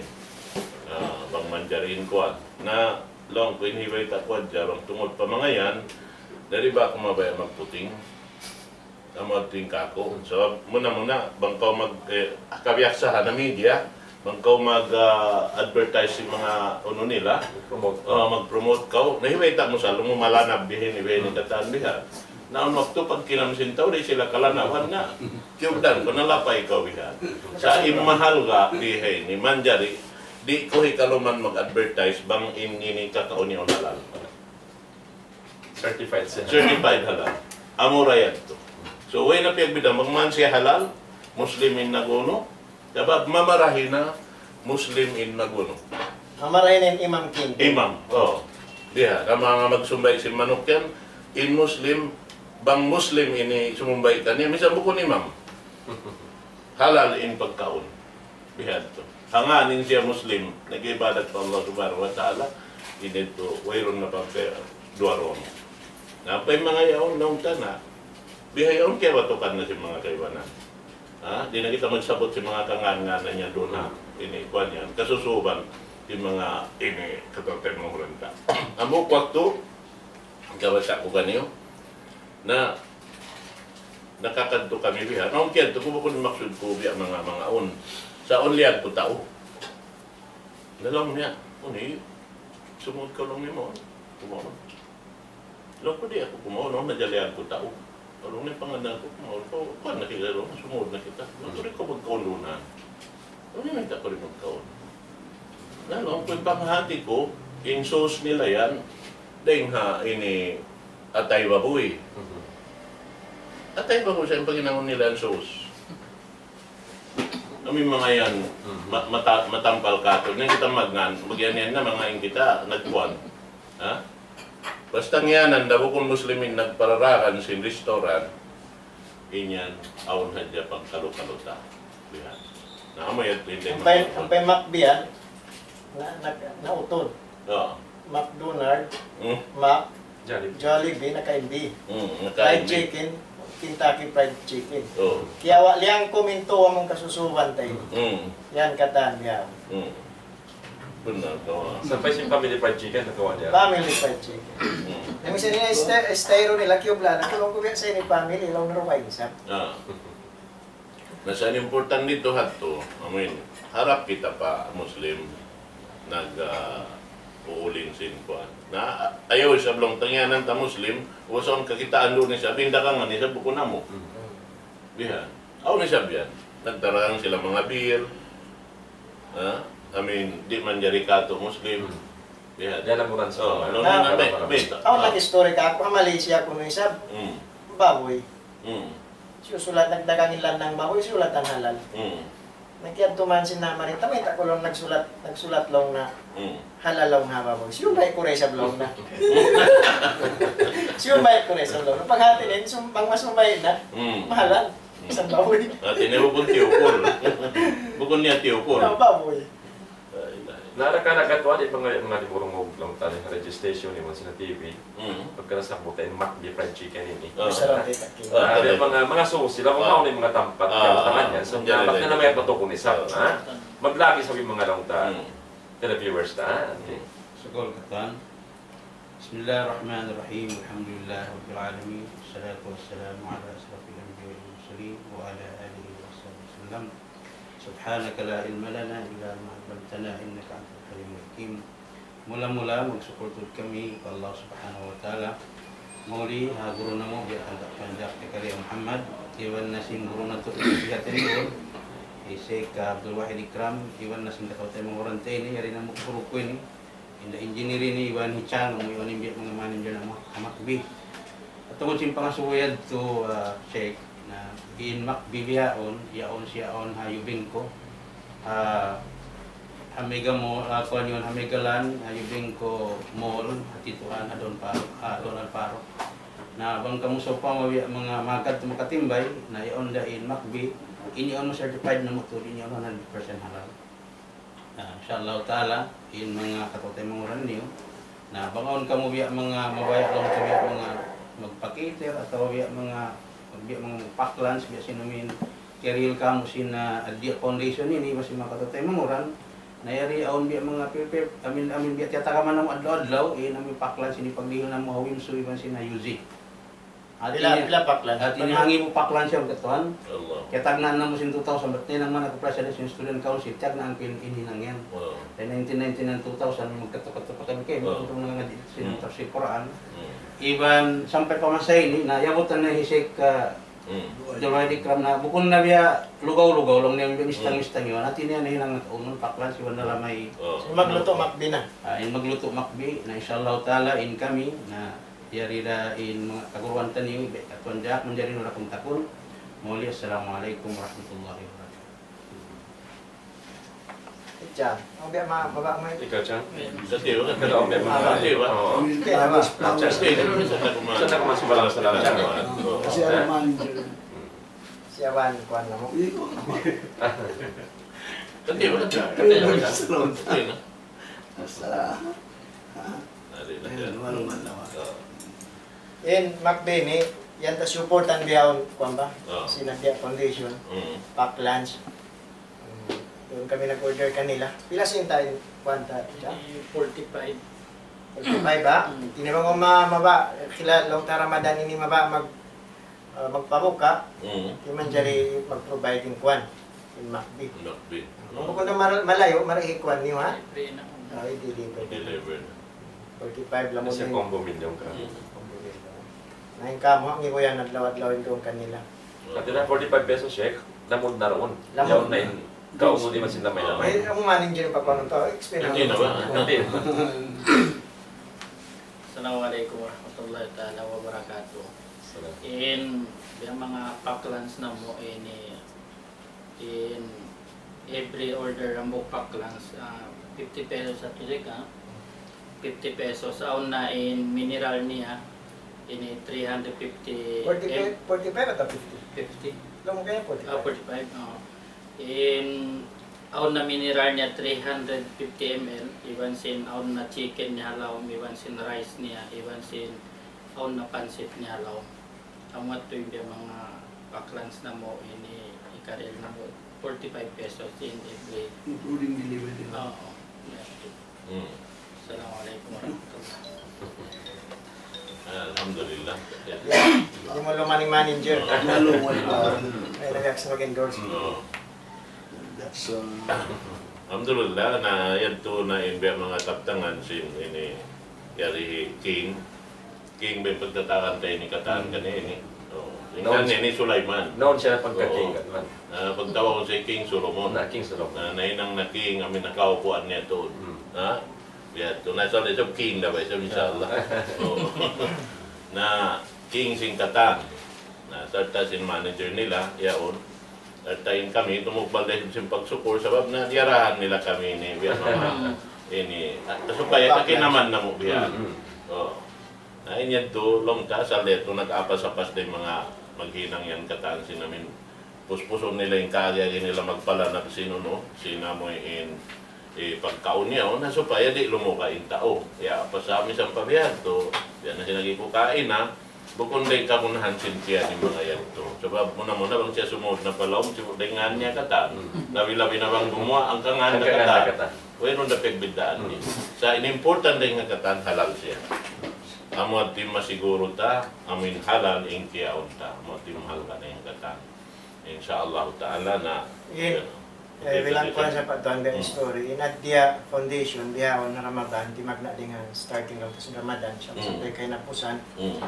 Ah, bang manjari in kuwan. Na, laung ku in hibayta' ku hadja, bang tungud pa manga yan, di' ba aku mabaya' magputing. Amu yadtu in kāku'. Sabab muna-muna, bang kaw mag, eh, kabiyaksahan na media, bang kaw mag, ah, advertise sin manga unu nila, promote. Ah, mag-promote kaw, na hibayta' mu sa, laung mu malanab bihaini, bihaini katan bihan. Na awn waktu paghinang sin tau, di' sila kalanaban na. Kiyugdan ku, nalapay kaw bihan. Sa' in mahalga' bihaini, manjari, di' ku hikaluman mag-advertise, bang in ini kakaun niya halal. Certified siya. Certified halal. Amura yadtu. So, way na piyagbidaan, bang man siya halal, Muslim in nag-unu, sabab mamarahi na Muslim in nag-unu. Mamarahi na in imam kin. Imam, oh. Diya, na manga magsumbay' sin manuk yan, in Muslim, bang Muslim ini sumumbay' kaniya, misan bukun imam. Halal in pagkaun. Bihadtu. Hangkan in siya Muslim, nag-ibadat pa Allah Subhanahu wa Ta'ala, ini tu, wayruun na pagka duwa-ruwa mu. Na, pa in manga yaun, naunta na, bihaun kiyabatukan na sin manga kaibanan. Ha? Di' na kita magsabut sin manga kangan-nganan niya duun, ha? Ini, kuwan yan, kasusuban, sin manga ini, kataw-taymanghuran ta. Amu waktu, kabasa' ku kaniyu, na, nakakadtu kami biha. Awn kiyadtu ku, bukun maksud ku biya' manga, manga awn. Sa' awn liyag ku tau. Na laung niya, "Unu, sumud kaw laung niya mawn. Kumaun." Laung ku, "Di' aku kumaun, awn na liyag ku tau." Laung niya, "Pangannal ku, kumaun kaw, kuwan na kita laung, sumud na kita." Laung ku, "Di' kaw magkaun duun." Laung niya, "Mayta' kaw di' magkaun?" Na, laung ku, in panghati ku, in sauce nila yan, dayn ha ini atay babuy. Mhm. Atay babuy sa' in paghinangun nila yan sauce. Amu in manga yan, mhm, ma-, mata-, matampal katu'. Na kita magngan, magyan yan na manga in kita, nagkuwan. Ha? Basta ngiyanan da bukun Muslimin nagpararakan sin restaurant, in yan, awn hadja pagkalu-kalu ta. Bihan. Na, amu yan, hindi. Ampay, ampay Mac bihan, na, na, nautud. Oo. McDonald, hmm? Mac, Jollibee. Jollibee, naka-M B. Hmm, naka-M B. Fried chicken, Kentucky Fried Chicken. Oh. Kiyawa' liyang kuminto among kasusuban tayo. Hmm. Yan katan, yan. Hmm. Benar, kawa. Sampay sin family fried chicken, nakawa' niya. Family fried chicken. Hmm. Na misan ini esta-, estayro nila, kiyubla na, kulong ko biya' sa ini family, laung na ruwa, isab. Ah. Na sa' in importante didtu hadtu, I mean, harap kita pa Muslim, nag, ah, uuling sin kuwan. Na, ayaw isab laung tangyanan ta Muslim, usaun kakitaan duun isab, in dagangan isab bukun namu'. Hmm. Bihan. Awn isab yan. Nagtarang sila manga beer. Ha? I mean, di' manjari katu' Muslim. Hmm. Bihan. Yan ang uran sa Oh, mga laung na, may, may, awn nag-istorya kaku', ha Malaysia kunu' isab. Hmm. Baboy. Hmm. Siyusulat, nagdagang in lanang baboy, siyulatan halal. Hmm. Nagkiyadtu man sin namarinta, mayta' ku laung nagsulat, nagsulat laung na Hmm. halal laung ha baboy. Siyumbay' ku da isab laung na. Siyumbay' ku da isab laung na. Paghati niya, sum-, bang masumbay' na, Hmm. mahalal. Hmm. Isab baboy. Hati niya bukun tiyukul. Bukun niya tiyukul. Ah, baboy. Ay, ay. Nara ka na katuwa di' pa nga, nga di' burungug laung ta in registration, iban sin T V. Mm. Pagka nasabbut in McD fried chicken ini. Ah. Masarap eh, Kaki. Ah, di' pa nga, manga susi, laung Ah. awn in manga tampat, Ah, kaya ah. tangan yan. So, Yan, dapat yan, na yan. naman yan patukun isab, Ah. ha? Maglagi sa manga laung ta. Mm. Televiewers ta, ha? Mm. Sukul katan. بسم الله الرحمن الرحيم. الحمد لله رب العالمين. والصلاة والسلام على أشرف الأنبياء والمرسلين وعلى آله وصحبه وسلم. سبحانك لا علم لنا إلا ما علمتنا إنك أنت العليم الحكيم. Mula-mula magsukul tuud kami pa Allah Subhanahu wa Ta'ala. Mauli ha guru namu' biya' kan Tanduk Zakaria Muhammad, iban na sin guru natu' biya' tiniun, hi Sheikh Abdul Wahid Ikram, iban na sin kataw-taymanghuran ta ini, yari na mu guru ku ini. In da engineer ini iban hi Chang, amu iban in biya' manga manager na amu ha McB. At tungud sin pangasubu yadtu, ah, Sheikh, na in McB bihaun, yaun siya yaun ha Yubenco. Ha, ha Mega Mall, ah, kuwan yan, ha Megaland, ha Yubenco Mall, ha Tituan, ha Don Paro, ha Don Alvaro. Na bang kamu sawpama biya' manga magad tu makatimbay, na yaun da in McB, ini yaun certified na mutul, ini yaun one hundred percent halal. Na, insha Allah Ta'ala, in manga kataw-taymanghuran niyu. Na, bang awn kamu biya' manga mabaya' laung ta biya' manga magpa-cater atawa biya' manga, biya' manga magpa-lunch, biya' sin amin, carry kamu sin, ah, Ad-Diya Foundation ini, masi manga kataw-taymanghuran. Na yari awn biya' manga pi-, pi-, amin, amin biya' tiyatagaman namu' adlaw-adlaw, in amin pa-lunch ini pagdihil namu' ha Wimsu iban sin ha Yuzi. Hati niya, pila pa-lunch? Hati niya hangibu pa-lunch siya, katuan. Allah. Kaya tagnaan namu' sin two thousand, bat na in manga nagpa-lunch sin student council, tagnaan ku in, in hinang yan. Wow. Kaya nineteen ninety-nine, two thousand, magkatu-katu pa kami kay, Wow. magkatu na nga di, sin Hmm. tafsir Quran. Hmm. Iban sampay pa masa ini, na yabutan na hi Sheikh, ah, Hmm. Abdul Wahid Ikram na, bukun na biya' lugaw-lugaw, laung niya biya' mistang-mistang Hmm. yan. Hati niya na hinang nakaunun, pa-lunch, iban na lamay. Oh. Magluto, makbi na. Ah, in magluto, makbi, na insha Allah Ta'ala, in kami, na yari da in manga kaguruan taniyu, be, katuan jak, manjari nura kung takun. Mauli, assalamu alaikum warahmatullahi wabarakatuh. Ikaw, ang biya' ma-, mababa' mo eh. Ikaw, Chang? Sa tiyo, Ikaw, ang biya' ma-, Mababa'. Sa tiyo, Oo. Okay, mababa'. Sa tiyo, sa tiyo, sa tiyo, Sa tiyo, mas maraming salamat, Chang. Oo. Kasi ano man, Hmm. Siya ba, kuwan na mo? Hindi ko. Sa tiyo, sa tiyo. Sa tiyo, sa tiyo. Sa tiyo, no? Asala. Ha? Ari na Ayun, yan. Walang man naman. Oo. In, Mac Benny, yan ta supportan bihaun, kuwan ba? Oo. Sin Ad-Diya Foundation, Mm. pack lunch. Mm, duun kami nag-order kanila. Pila sin ta in, kuwan ta, siya? Di forty-five. Forty-five, ha? Mm. Ini bang ma-, maba, kila laung ta Ramadan ini maba mag- ah, magpabuka, Mm. di' manjari mag-provide in kuwan, in makbi. Makbi. Kung Mm. bukun na mar-, malayu', mari hikuan niyu, ha? Libre na. Ah, i-deliver. I-deliver na. Forty-five lamud Kasi in. Combo meal yung ka. Mm. Combo meal. Na in kamu, ang ibu yan, adlaw-adlaw in duun kanila. Mm. At yun na, forty-five pesos, Sheikh. Lamud na roon. Lamud. Yaun na in. Kaungun di' man sila may lamay. Ay, ang maning dyan pa kuwan to, explain Hindi na ba? Hindi. Assalamu alaikum warahmatullahi ta'ala wabarakatuh. Salam. In, biya' manga pack lunch namu' ini, in every order hambuuk pack lunch, ah, fifty pesos at ulit, ah. Fifty pesos. Awn na in mineral niya, ini three hundred fifty Forty-five, em- forty-five atawa fifty? Fifty. Alam mo kaya forty-five? Ah, forty-five, oo. In, awn na mineral niya three hundred fifty M L, iban sin awn na chicken niya ha lawm, iban sin rice niya, iban sin Awn na pansit niya laung. Amu yadtu in biya' manga pack lunch namu' ini, hikarihil namu' forty-five pesos in every. Including delivery. Oo. Hmm. Assalamu alaykum warahmatullah. Alhamdulillah. Di' mu lumaning manager. Lalu, wala. Ay, nagak sa mag-endorse. Oo. That's, uh, Alhamdulillah, na yadtu na in biya' manga kabtangan sin ini yari King. King ba in pagtatawagun ta ini katan kaniya ini? Oo. Naun ini Sulaiman. Naun siya pagka-king katan. Na pagtawag siya King Solomon. Na King Solomon. Na nahinang na king, amu in nakaupuan niya tuud. Hmm. Ha? Biya' tu. Na, isab, isab king da ba, isab, insha Allah. Oo. Na king sin katan. Na, sarta' sin manager nila, yaun. Sarta' in kami, tumukbal da isab sin pagsukul, sabab na diyarahan nila kami ini, biya' manga, ini, ah, supaya kakinaman namu' biya'. Hmm, hmm. Oo. Na, in yadtu, laung ta, asal da yadtu nag-apas-apas da in manga maghinang yan katan sin amin. Puspusun nila in kaagi-agi nila magpalanab sin unu, sin amu in, eh, pagkaun niya, na supaya di' lumuka in tau. Ya, pasal misan pa biya' yadtu, biya' na sin agi ku kaina, bukun da in kagunahan sin tiyan in manga yadtu. Sabab muna-muna bang siya sumud na pa lawm, sibuk da in ngan niya katan. Hmm. Labi-labi na bang gumuwa' hangka ngan na katan. Hangka ngan na katan. Wayruun da pagbiddaan niya. Hmm. Sa' in important da in katan halal siya. Amu yadtu in masiguru ta, amu in halal in kiyaun ta. Amu yadtu in mahal ka na in katan. Insha Allah Ta'ala na. Yin. Yan. Eh, bilang kuwan sa pagtuan da in story. In Adya Foundation, bihaun Ramadan, timagna' dayn ha starting of Ramadan, sa' sampay kahinapusan. Mm.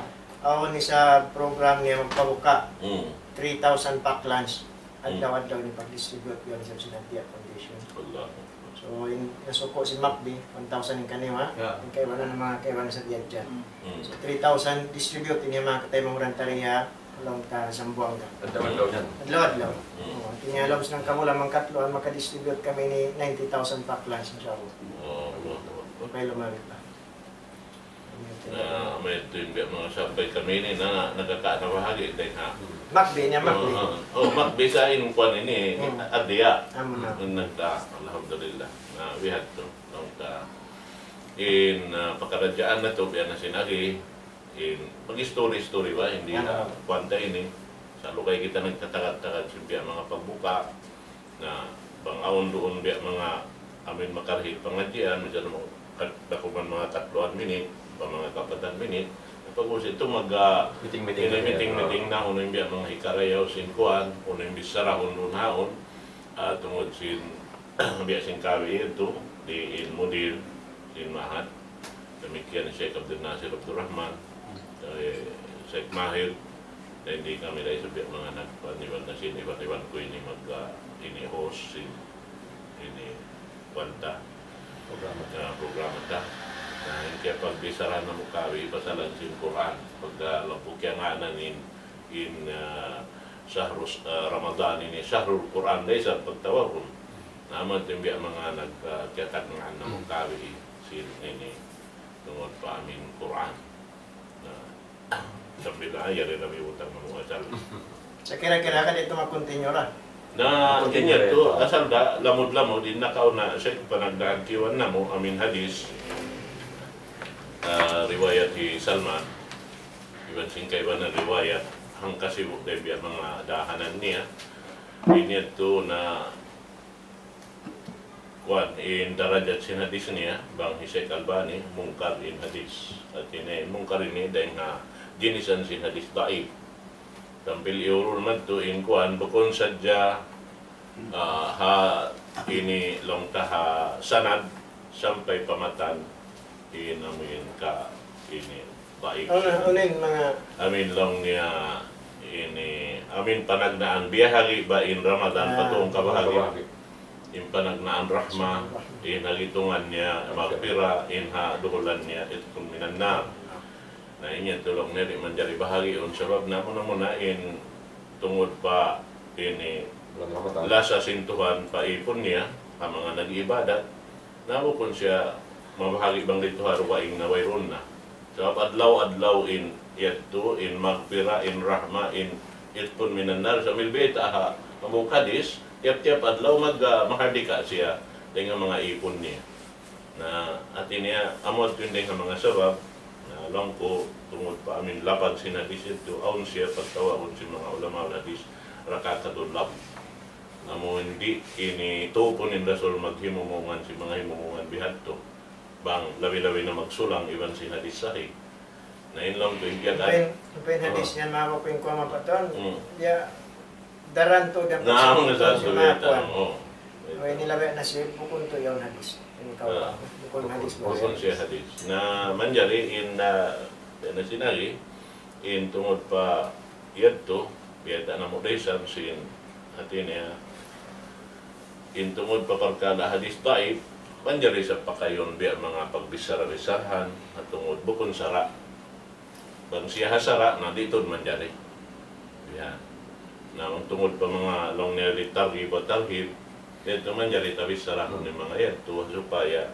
Awn isa program niya magpabuka. Mm. Three thousand pack lunch. Adlaw-adlaw ini pag-distribute yan sa Adya Foundation. Allah. So, in, nasuku' sin MACV, one thousand in kaniya, ha? Ya. In kaibanan, manga kaibanan sa Adya. Mm. So, three thousand distribute ini manga kataymanghuran ta di ha laum ta Zamboanga. Adlaw-adlaw yan. Adlaw-adlaw. Mm. Oo, hati niya laum sin hangkabulan mangkatluan, maka-distribute kami ini ninety thousand pack lunch, insha Allah. Oh, Allah. Hangkan lumabi pa. Na, amu yadtu in biya' manga sampay kami ini na, nakaka-, nabahagi' dayn ha. MACV niya, MACV. Oo, oo. Oh, MACV sa in kuwan ini, Adya. Amu na. In nagda, alhamdulillah. Na, bihadtu. Laung ta, in, ah, pakaradjaan natu', biya' na sin agi, in, mag-story-story ba, hindi na, kuwan ta ini. Sa' lugay kita nagtatagad-tagad sin biya' manga pagbuka, na bang awn duun biya' manga amin makarihil pangadjian, misan mo kat-, dakuman manga katluan minit, pa manga kapatan minit, pag-ubus yadtu mag, ah, meeting-meeting na, meeting-meeting na, unu in biya' manga hikarayaw sin kuwan, unu in bichara duun ha yaun, ah, tungud sin biya' sin kawi yadtu, di' in mudir, sin Ma'had. Damikkiyan hi Sheikh Abdul Nasir Abdul Rahman, eh, Sheikh Mahir, na di' kami da isab biya' manga nagkuwan, iban na sin, iban, iban ku ini mag, ah, ini host sin, ini kuwan ta. Programa ta. Ah, programa ta. Na, in kiyapagbichara namu' kawi, pasalan sin Qur'an. Pagka laung ku kiyangānan in, in, ah, shahru, ah, Ramadan ini, shahrul Qur'an da isab pagtawagun. Na, amu yadtu in biya' manga nag, ah, kiyatagnaan namu' kawi sin ini tungud pa amin Qur'an. Na, sambil, ah, yari na biyutang namu' asal. Sa' kira-kira ka di' tu mag-continue ra? Na, continue ra yadtu, asal da, lamud-lamud, in nakauna, sa' panagnaan kiyuan namu', amin hadith, ah, riwayat hi Salman, iban sin kaibanan riwayat, hangka sibu' da in biya' manga dahanan niya. In yadtu na, kuwan, in darajat sin hadith niya, bang hi Sheikh Albani, munkar in hadith. Hati niya, in munkar ini, dayn ha ginisan sin hadith daif. Sampay iyurul madtu in kuwan, bukun sadja, ah, ha ini laung ta ha sanad, sampay pa matan, in amin ka ini daif. Unu, unu in manga amin laung niya ini, amin panagnaan, biyahagi' ba in Ramadan, ah, pa tū kabahagi'. Kabahagi'. In panagnaan rahma, in ha gitungan niya, maghfira, in ha duhulan niya, itqun minan nar. Na, in yan laung niya, di' manjari bahagiun, sabab na muna-muna in tungud pa ini, bulan Ramadan, lasa sin Tuhan pa ipun niya, ha manga nag-ibadat, na bukun siya mabahagi' bang didtu ha dugaing na wayruun na. Sabab adlaw-adlaw in yadtu, in maghfira, in rahma, in itqun minan nar, sambil bayta' ha hambuuk hadith, tiyap-tiyap adlaw mag, ah, mahardika siya dayn ha manga ipun niya. Na, hati niya, amu yadtu in dayn ha manga sabab, Na, laung ku, tungud pa amin lapad sin hadis yadtu, awn siya pagtawagun sin manga ulama hadis, rakatul lab. Amu in di' ini tuupun in Rasul maghimumungan sin manga himumungan bihadtu. Bang labi-labi na magsulang iban sin hadis sahih. Na in laung ku in biya' In, in hadis yan, mabuk in kuha mapatun. Hmm. Ya, daran tu dan Na, amu na sa si tu ya, makuan. Oh. Ini labi na siya, bukun tu yaun hadis. Ini kaw, Ah. bukun hadis, Bukun siya hadis. Na, manjari in, ah, na sinari, in tungud pa yadtu, biya' ta na mu da isab sin hati niya, in tungud pa parkala' hadis daif, manjari sa pakayun biya' manga pagbichara-bicharahan, ha tungud bukun sara'. Bang siya ha sara', na di' tuud manjari. Yan. Na, bang tungud pa manga laung niya di' targhib wa tarhib, yadtu manjari tabicharahun in manga yadtu, supaya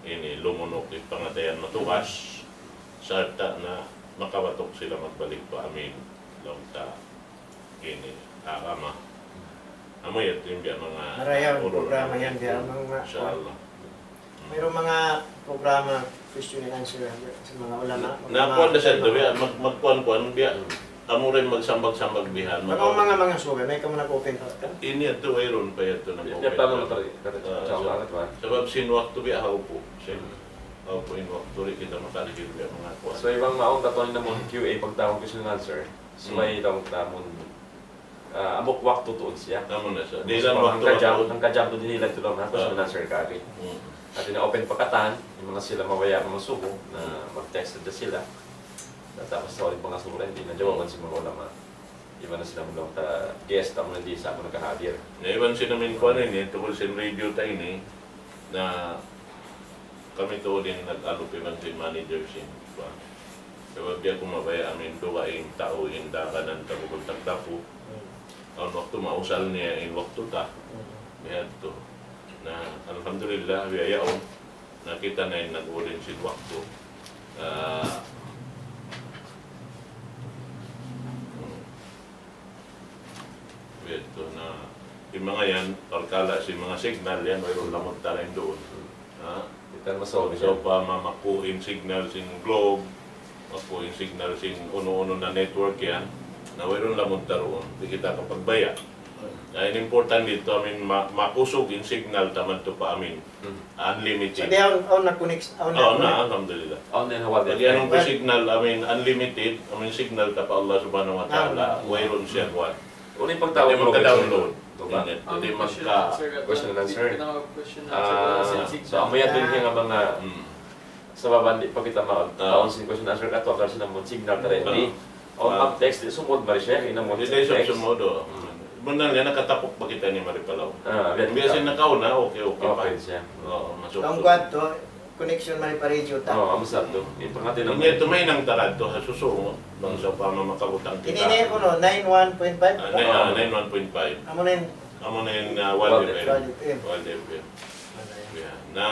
ini lumunuk in pangatayan matugas, sarta' na makabatuk sila magbalik pa amin, laung ta ini, agama. Amu yadtu in biya' manga Marayaw in urun programa namu' yan, biya' yadtu. Manga Insya Allah. Mayroong mga programa, question and answer, sa mga ulama, mga Na, kuwan da sa ulama. Ito, biya', mag-, magkuwan-kuwan, biya', Hmm. amu rin magsambag-sambag bihan, Mga, mga, mga survey, may kamu nag-open pa ka? Ini yadtu, wayruun pa yadtu nag-open. Hindi pa naman talaga, talaga. Ah, Sa so, ulangan, diba? Sabab sin waktu biya' haupu'. Sin Hmm. haupu' in waktu di' kita makalihil biya' mga kuwan. So, iban maong katuan na mo, Q A pagtawag question and answer. So, Hmm. may tawag na mo, Ah, amu waktu tuud siya. Amu na sa. Di' Mas lang pang waktu hangka jam, waktu. Hangka jam tuud in ila tuud, ha? Tapos Ah. man-answer kami. Hmm. Hati niya open pa katan, in manga sila mabaya' masubu, na Hmm. mag-text na sila. Na tapos sa ulit manga sura, di' na jawaban sin manga ulama. Iban na sila manga ta guest, amu na di' sa amu nakahadir. Na iban sin amin kuwan ini, tungud sin radio ta ini, na kami tuud in nag-alup iban sin manager sin kuwan. Sabab di' aku mabaya' amin dugaing tau in daganan ta bukun tagdapu. Hmm. Awn waktu mausal niya in waktu ta. Hmm. Biya' yadtu. Na, alhamdulillah, biya' yaun. Na kita na in nag-ulin sin waktu. Ah, hmm. Biya' yadtu na, in manga yan, parkala' sin manga signal yan, wayruun lamud ta lain duun. Ha? Kita masaw Sa' upama maku' in signal sin Globe, maku' in signal sin unu-unu na network yan, na wayruun lamud ta duun. Di' kita kapagbaya'. Na in important didtu, amin ma-, makusug in signal ta madtu pa amin. Hmm. Unlimited. Sa' di' awn, awn na connect, awn na Oh, connect. Na, alhamdulillah. Awn na in hawal Pag yan. Yan ang signal, I mean, unlimited, I mean, signal ta pa Allah Subhanahu wa Ta'ala, Naam. Wayruun siya kuwan. Unu in pagtawag Hindi mo magka-download. Ito ba? Hindi, hindi magka- Question and answer. Question and answer. Ah, so, amu yan din yung mga Hmm. sabab di' pa kita ma-, Ah. Taon sin question and answer ka, tuwakal sin amun signal ka rin. Ah. Di', o Ah. mag-text, di' sumud mari siya, in amun Hindi, text. Sumud, oh. Hmm. Bunnal niya, nakatapuk pa kita ini mari pa law. Ah, biya' Biya' sin nakauna, okay, okay pa. Okay siya. Oo, masuk. Tungkad to, connection mari pa radio ta. Oo, amu sa to. Ipangati na Hindi, mo. Tumainang tarad to, ha susunod. Bang sa upama makabutang kita. Ini na yun, no? Nine one point five? Ah, nine, ah, nine one point five. Amu na yun. Amu na yun, ah, Wild Wild F M. F M. Wild F M. Wild F M. Yan. Na,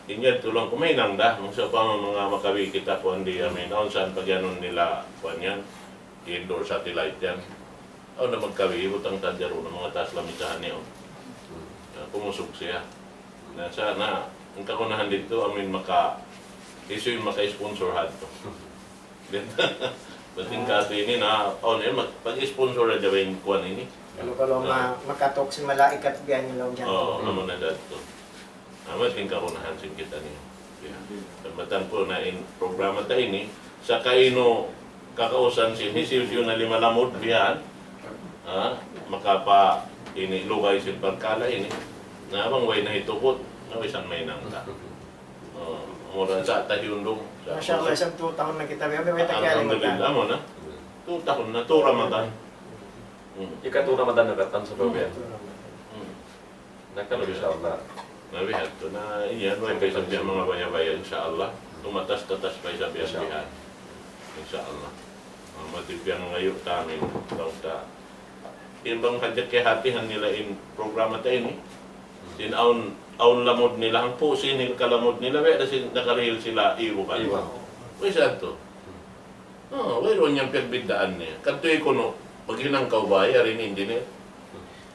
in yan tulang kumainang da. Bang sa upama manga makabi kita kuwan di, I mean, awn saan pagyanun nila, kuwan yan, indoor satellite yan. Awn na magkawi, butang ta diyaro na manga taas lamisahan niya, oh. Hmm. Ah, kumusog siya. Na sana, in kagunahan didtu, amin maka, issue in maka-sponsor hadtu. Bating Ah. katu' ini na, awn na, mag-, pag-sponsor na dyan in kuwan ini. Kalu-kalu Ah. ma-, makatuk sin malaikat biya' niya laung dyan. Oo, Hmm. amu na da to. Amu in kagunahan sin kita niya. Ya. Tambatan ku na in programa ta ini, sa' kaynu kakausan sin hisiyu-siyu na lima lamud biya' yan, ha, makapa ini lugay sin parkala' ini, na bang way na hitukut, na way san mahinang ta. Oh, mura sa' ta hiyundung. Masha Allah, isab tu tahun na kita, biya', biya', way ta kiyari Alhamdulillah, magka- amu na. Tu tahun na, tu Ramadan. Hmm. Ika tu Ramadan na katan sa Hmm. babiyan. Hmm. Nakalu, insya Allah. Na biya' hadtu na, in yan, way pa isab biya' manga baya-baya, insya Allah. Tumatas-tatas pa isab biya' Insya Allah. Bihan. Insya Allah. Ah, mati biya' ngayu' ta amin, laung ta. In bang hadja kiyahatihan nila in programa ta ini. Sin awn, awn lamud nila, hangpu' sin kalamud nila, biya' da sin nakarihil sila ibu kan. Ibu. Way sa tu. Ah, wayruun yan piyagbiddaan niya. Kadtu kunu', maghinang kaw bay, yari in engineer.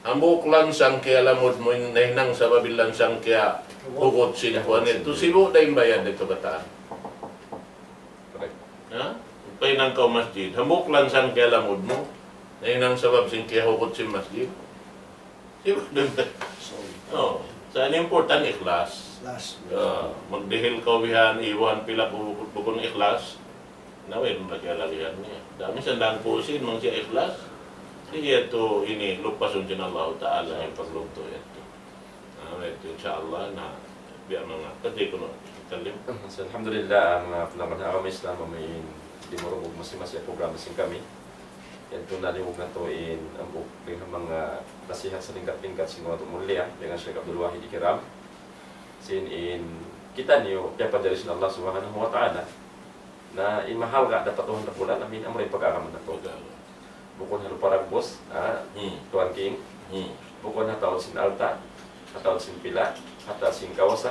Hambuuk lansang kiyalamud mu in nahinang sabab in lansang kiyahugut sin kuwan yadtu. Sibu' da in bayad da kabataan. Correct. Ha? Pahinang kaw masjid. Hambuuk lansan kiyalamud mu. Na in sabab sin kiyahukut sin masjid. Di' ba? Oh. Sa' in important ikhlas. Ikhlas. Ah, magdihil kaw bihan, iban pila ku bukun ikhlas. Na, way na kiyalagihan niya. Dami sa' dangku sin, bang siya ikhlas. Siya tu ini, lupasun sin Allah Ta'ala in paglugtu' yadtu. Ah, way tu, insya Allah, na, biya' manga, pwede ku na, kalim. Alhamdulillah, manga panaman ha agama Islam, amu in dimurungug masi-masi in programa sin kami. Yadtu na limug natu' in hambuuk dayn ha manga nasihat salingkat-lingkat sin manga mulia, dayn ha Sheikh Abdul Wahid Ikram. Sin in kitaniyu, piyapanjari sin Allah Subhanahu wa Ta'ala. Na in mahalga' dapat Tuhan Rabbul Alamin, amura in pag-agama natu'. Bukun ha lupa dagbus, ha, Hmm. Tuan King. Hmm. Bukun ha taud sin alta', ha taud sin pila', ha taud sin kawasa.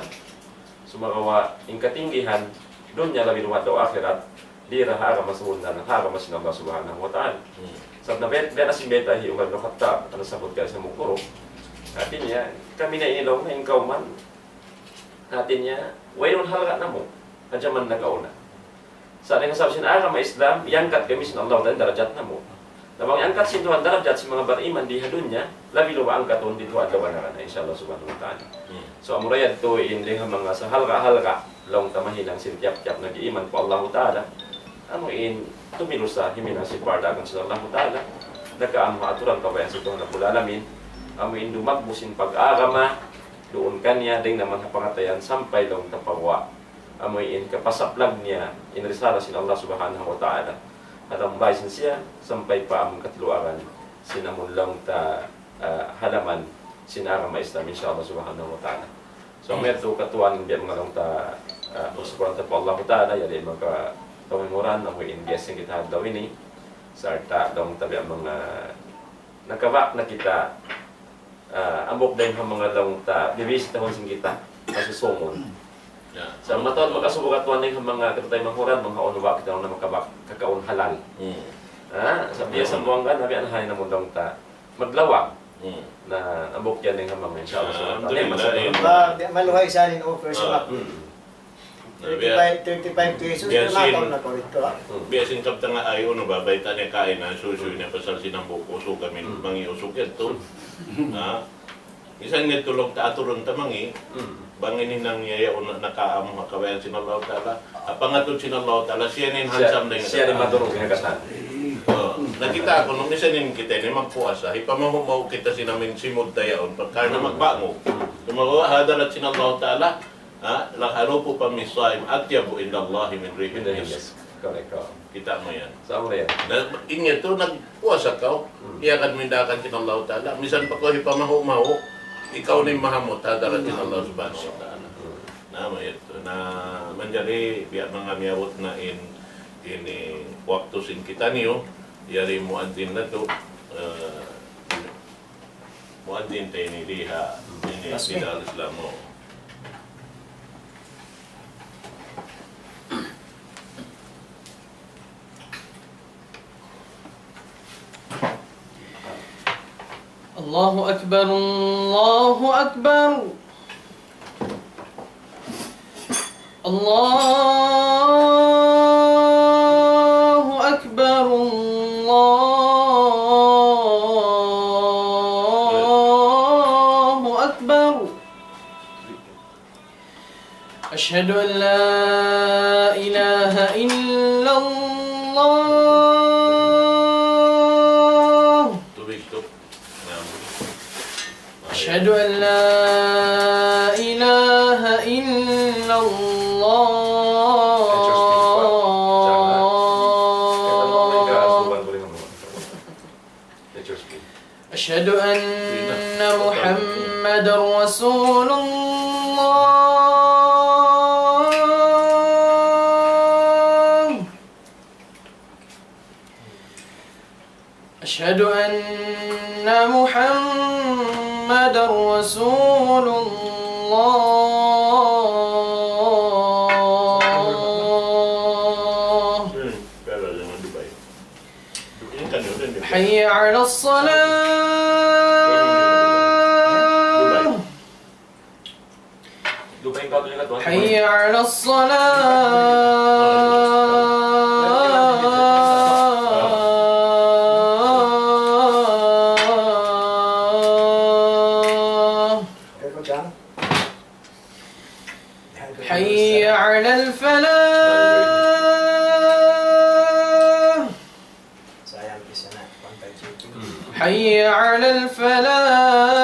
Sumagawa', in katinggihan, dunya labi luwat daw akhirat, di' da ha agama sabunnalan, ha agama sin Allah Subhanahu wa Ta'ala. Hmm. Sabab na bet, bet asin beta hi Umar bin Khattab, anu sabut ka sa mukuru. Hati niya, kami na ini laung na in kawman. Hati niya, wayruun halga' namu', ha jaman nakauna. Sa' dayn ha sabab sin agama Islam, iyangkat kami sin Allah Ta'ala darajat namu'. Na bang iyangkat sin Tuhan darajat sin manga bariman di ha dunya, labi luba angkatun di tuwan laban na, insya Allah Subhanahu wa Ta'ala. Hmm. So, amura yadtu in dayn ha manga sahalga'-halga', laung ta mahinang sin tiyap-tiyap nag-iiman pa Allah Ta'ala. Amu in tumilusa, himinang sin pardakan sin Allah Ta'ala. Nagkaamu ha aturan kabayaan sin Tuhan Rabbul Alamin. Amu in dumagbu sin pag-agama, duun kaniya, dayn naman ha pangatayan sampay laung ta pa guwa'. Amu in kapasaplag niya in risala sin Allah Subhanahu wa Ta'ala. Ha lawm bāy sin siya, sampay pa amun katiluagan sin amun laung ta, ah, halaman sin agama Islam, insya Allah Subhanahu wa Ta'ala. So, amu yadtu katuan biya' manga laung ta, ah, pagsukuran ta pa Allah Ta'ala, yari manga tau in uran, amu in biya' sin kita ha adlaw ini, sarta' laung ta biya' manga nakabak na kita, ah, hambuuk dayn ha manga laung ta, bibisitahun sin kita, masusungun. Ya. Sa' mataud makasubu katuan dayn ha manga kita tay manghuran, manga unu ba kita na makabak, kakaun halal. Hmm. Ha? Sa' biya' Hmm. sa buwang kan, nabi anahay na mundang ta maglawag. Hmm. Na, hambuuk yan dayn ha manga, insya Allah, Ah, subhanahu wa ta'ala. Alhamdulillah, Masa- eh. Ba, di', maluhay sa rin offer sa Ah. bak. Hmm. Na, biya', Thirty-five, thirty-five pesos, biya' na sin, mataon na ko rito, ah. Hmm. Biya' sin kabtangan ay, unu ba, bayta' niya kain, ah, susuy niya pasal sin hambuuk usug kami, Hmm. mangi usug yadtu. Hmm. Ah, misan niya tulog ta aturun ta mangi, Hmm. bang in hinang niya yaun nakaamu ha kabayaan sin Allah Ta'ala, ha pangatud sin Allah Ta'ala, siya na in Siya, hansam na in siya na in katan. Madurung in katan. Oh, nakita' ku, nung misan in kita ini magpuasa, hipamuhu'-muhu' kita sin amin simud ta yaun, pagka na Hmm. magbangu. Hmm. Sumagawa' ha hadarat sin Allah Ta'ala, Ha? لخلوف فم الصائم أطيب عند الله من ريح المسك. Min rihil misk. Correct, oh. Kita' mu yan. Sa' mu yan. Na, in yadtu, nagpuasa kaw, Hmm. iyakan mu in daakan sin Allah Ta'ala. Misan pa kaw hipamahu'-mahu', ikaw na in mahamut ha hadarat sin Allah Subhanahu wa Ta'ala. Hmm. Na, amu yadtu. Na, manjari, biya' manga miyabut na in, ini, waktu sin kitaniyu, yari muadzin natu', eh, Muadzin ta ini diha, ini Tasbih. Bidal Islam mu. الله أكبر، الله أكبر. الله أكبر، الله أكبر. أشهد أن لا إله إلا الله. Tubig tu. Naam. أشهد أن لا إله إلا الله. أشهد أن محمدا رسول الله. أشهد أن محمدا رسول الله. حي على الصلاة. حي على الصلاة. حي على الفلاح. حي على الفلاح.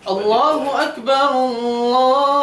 الله أكبر، الله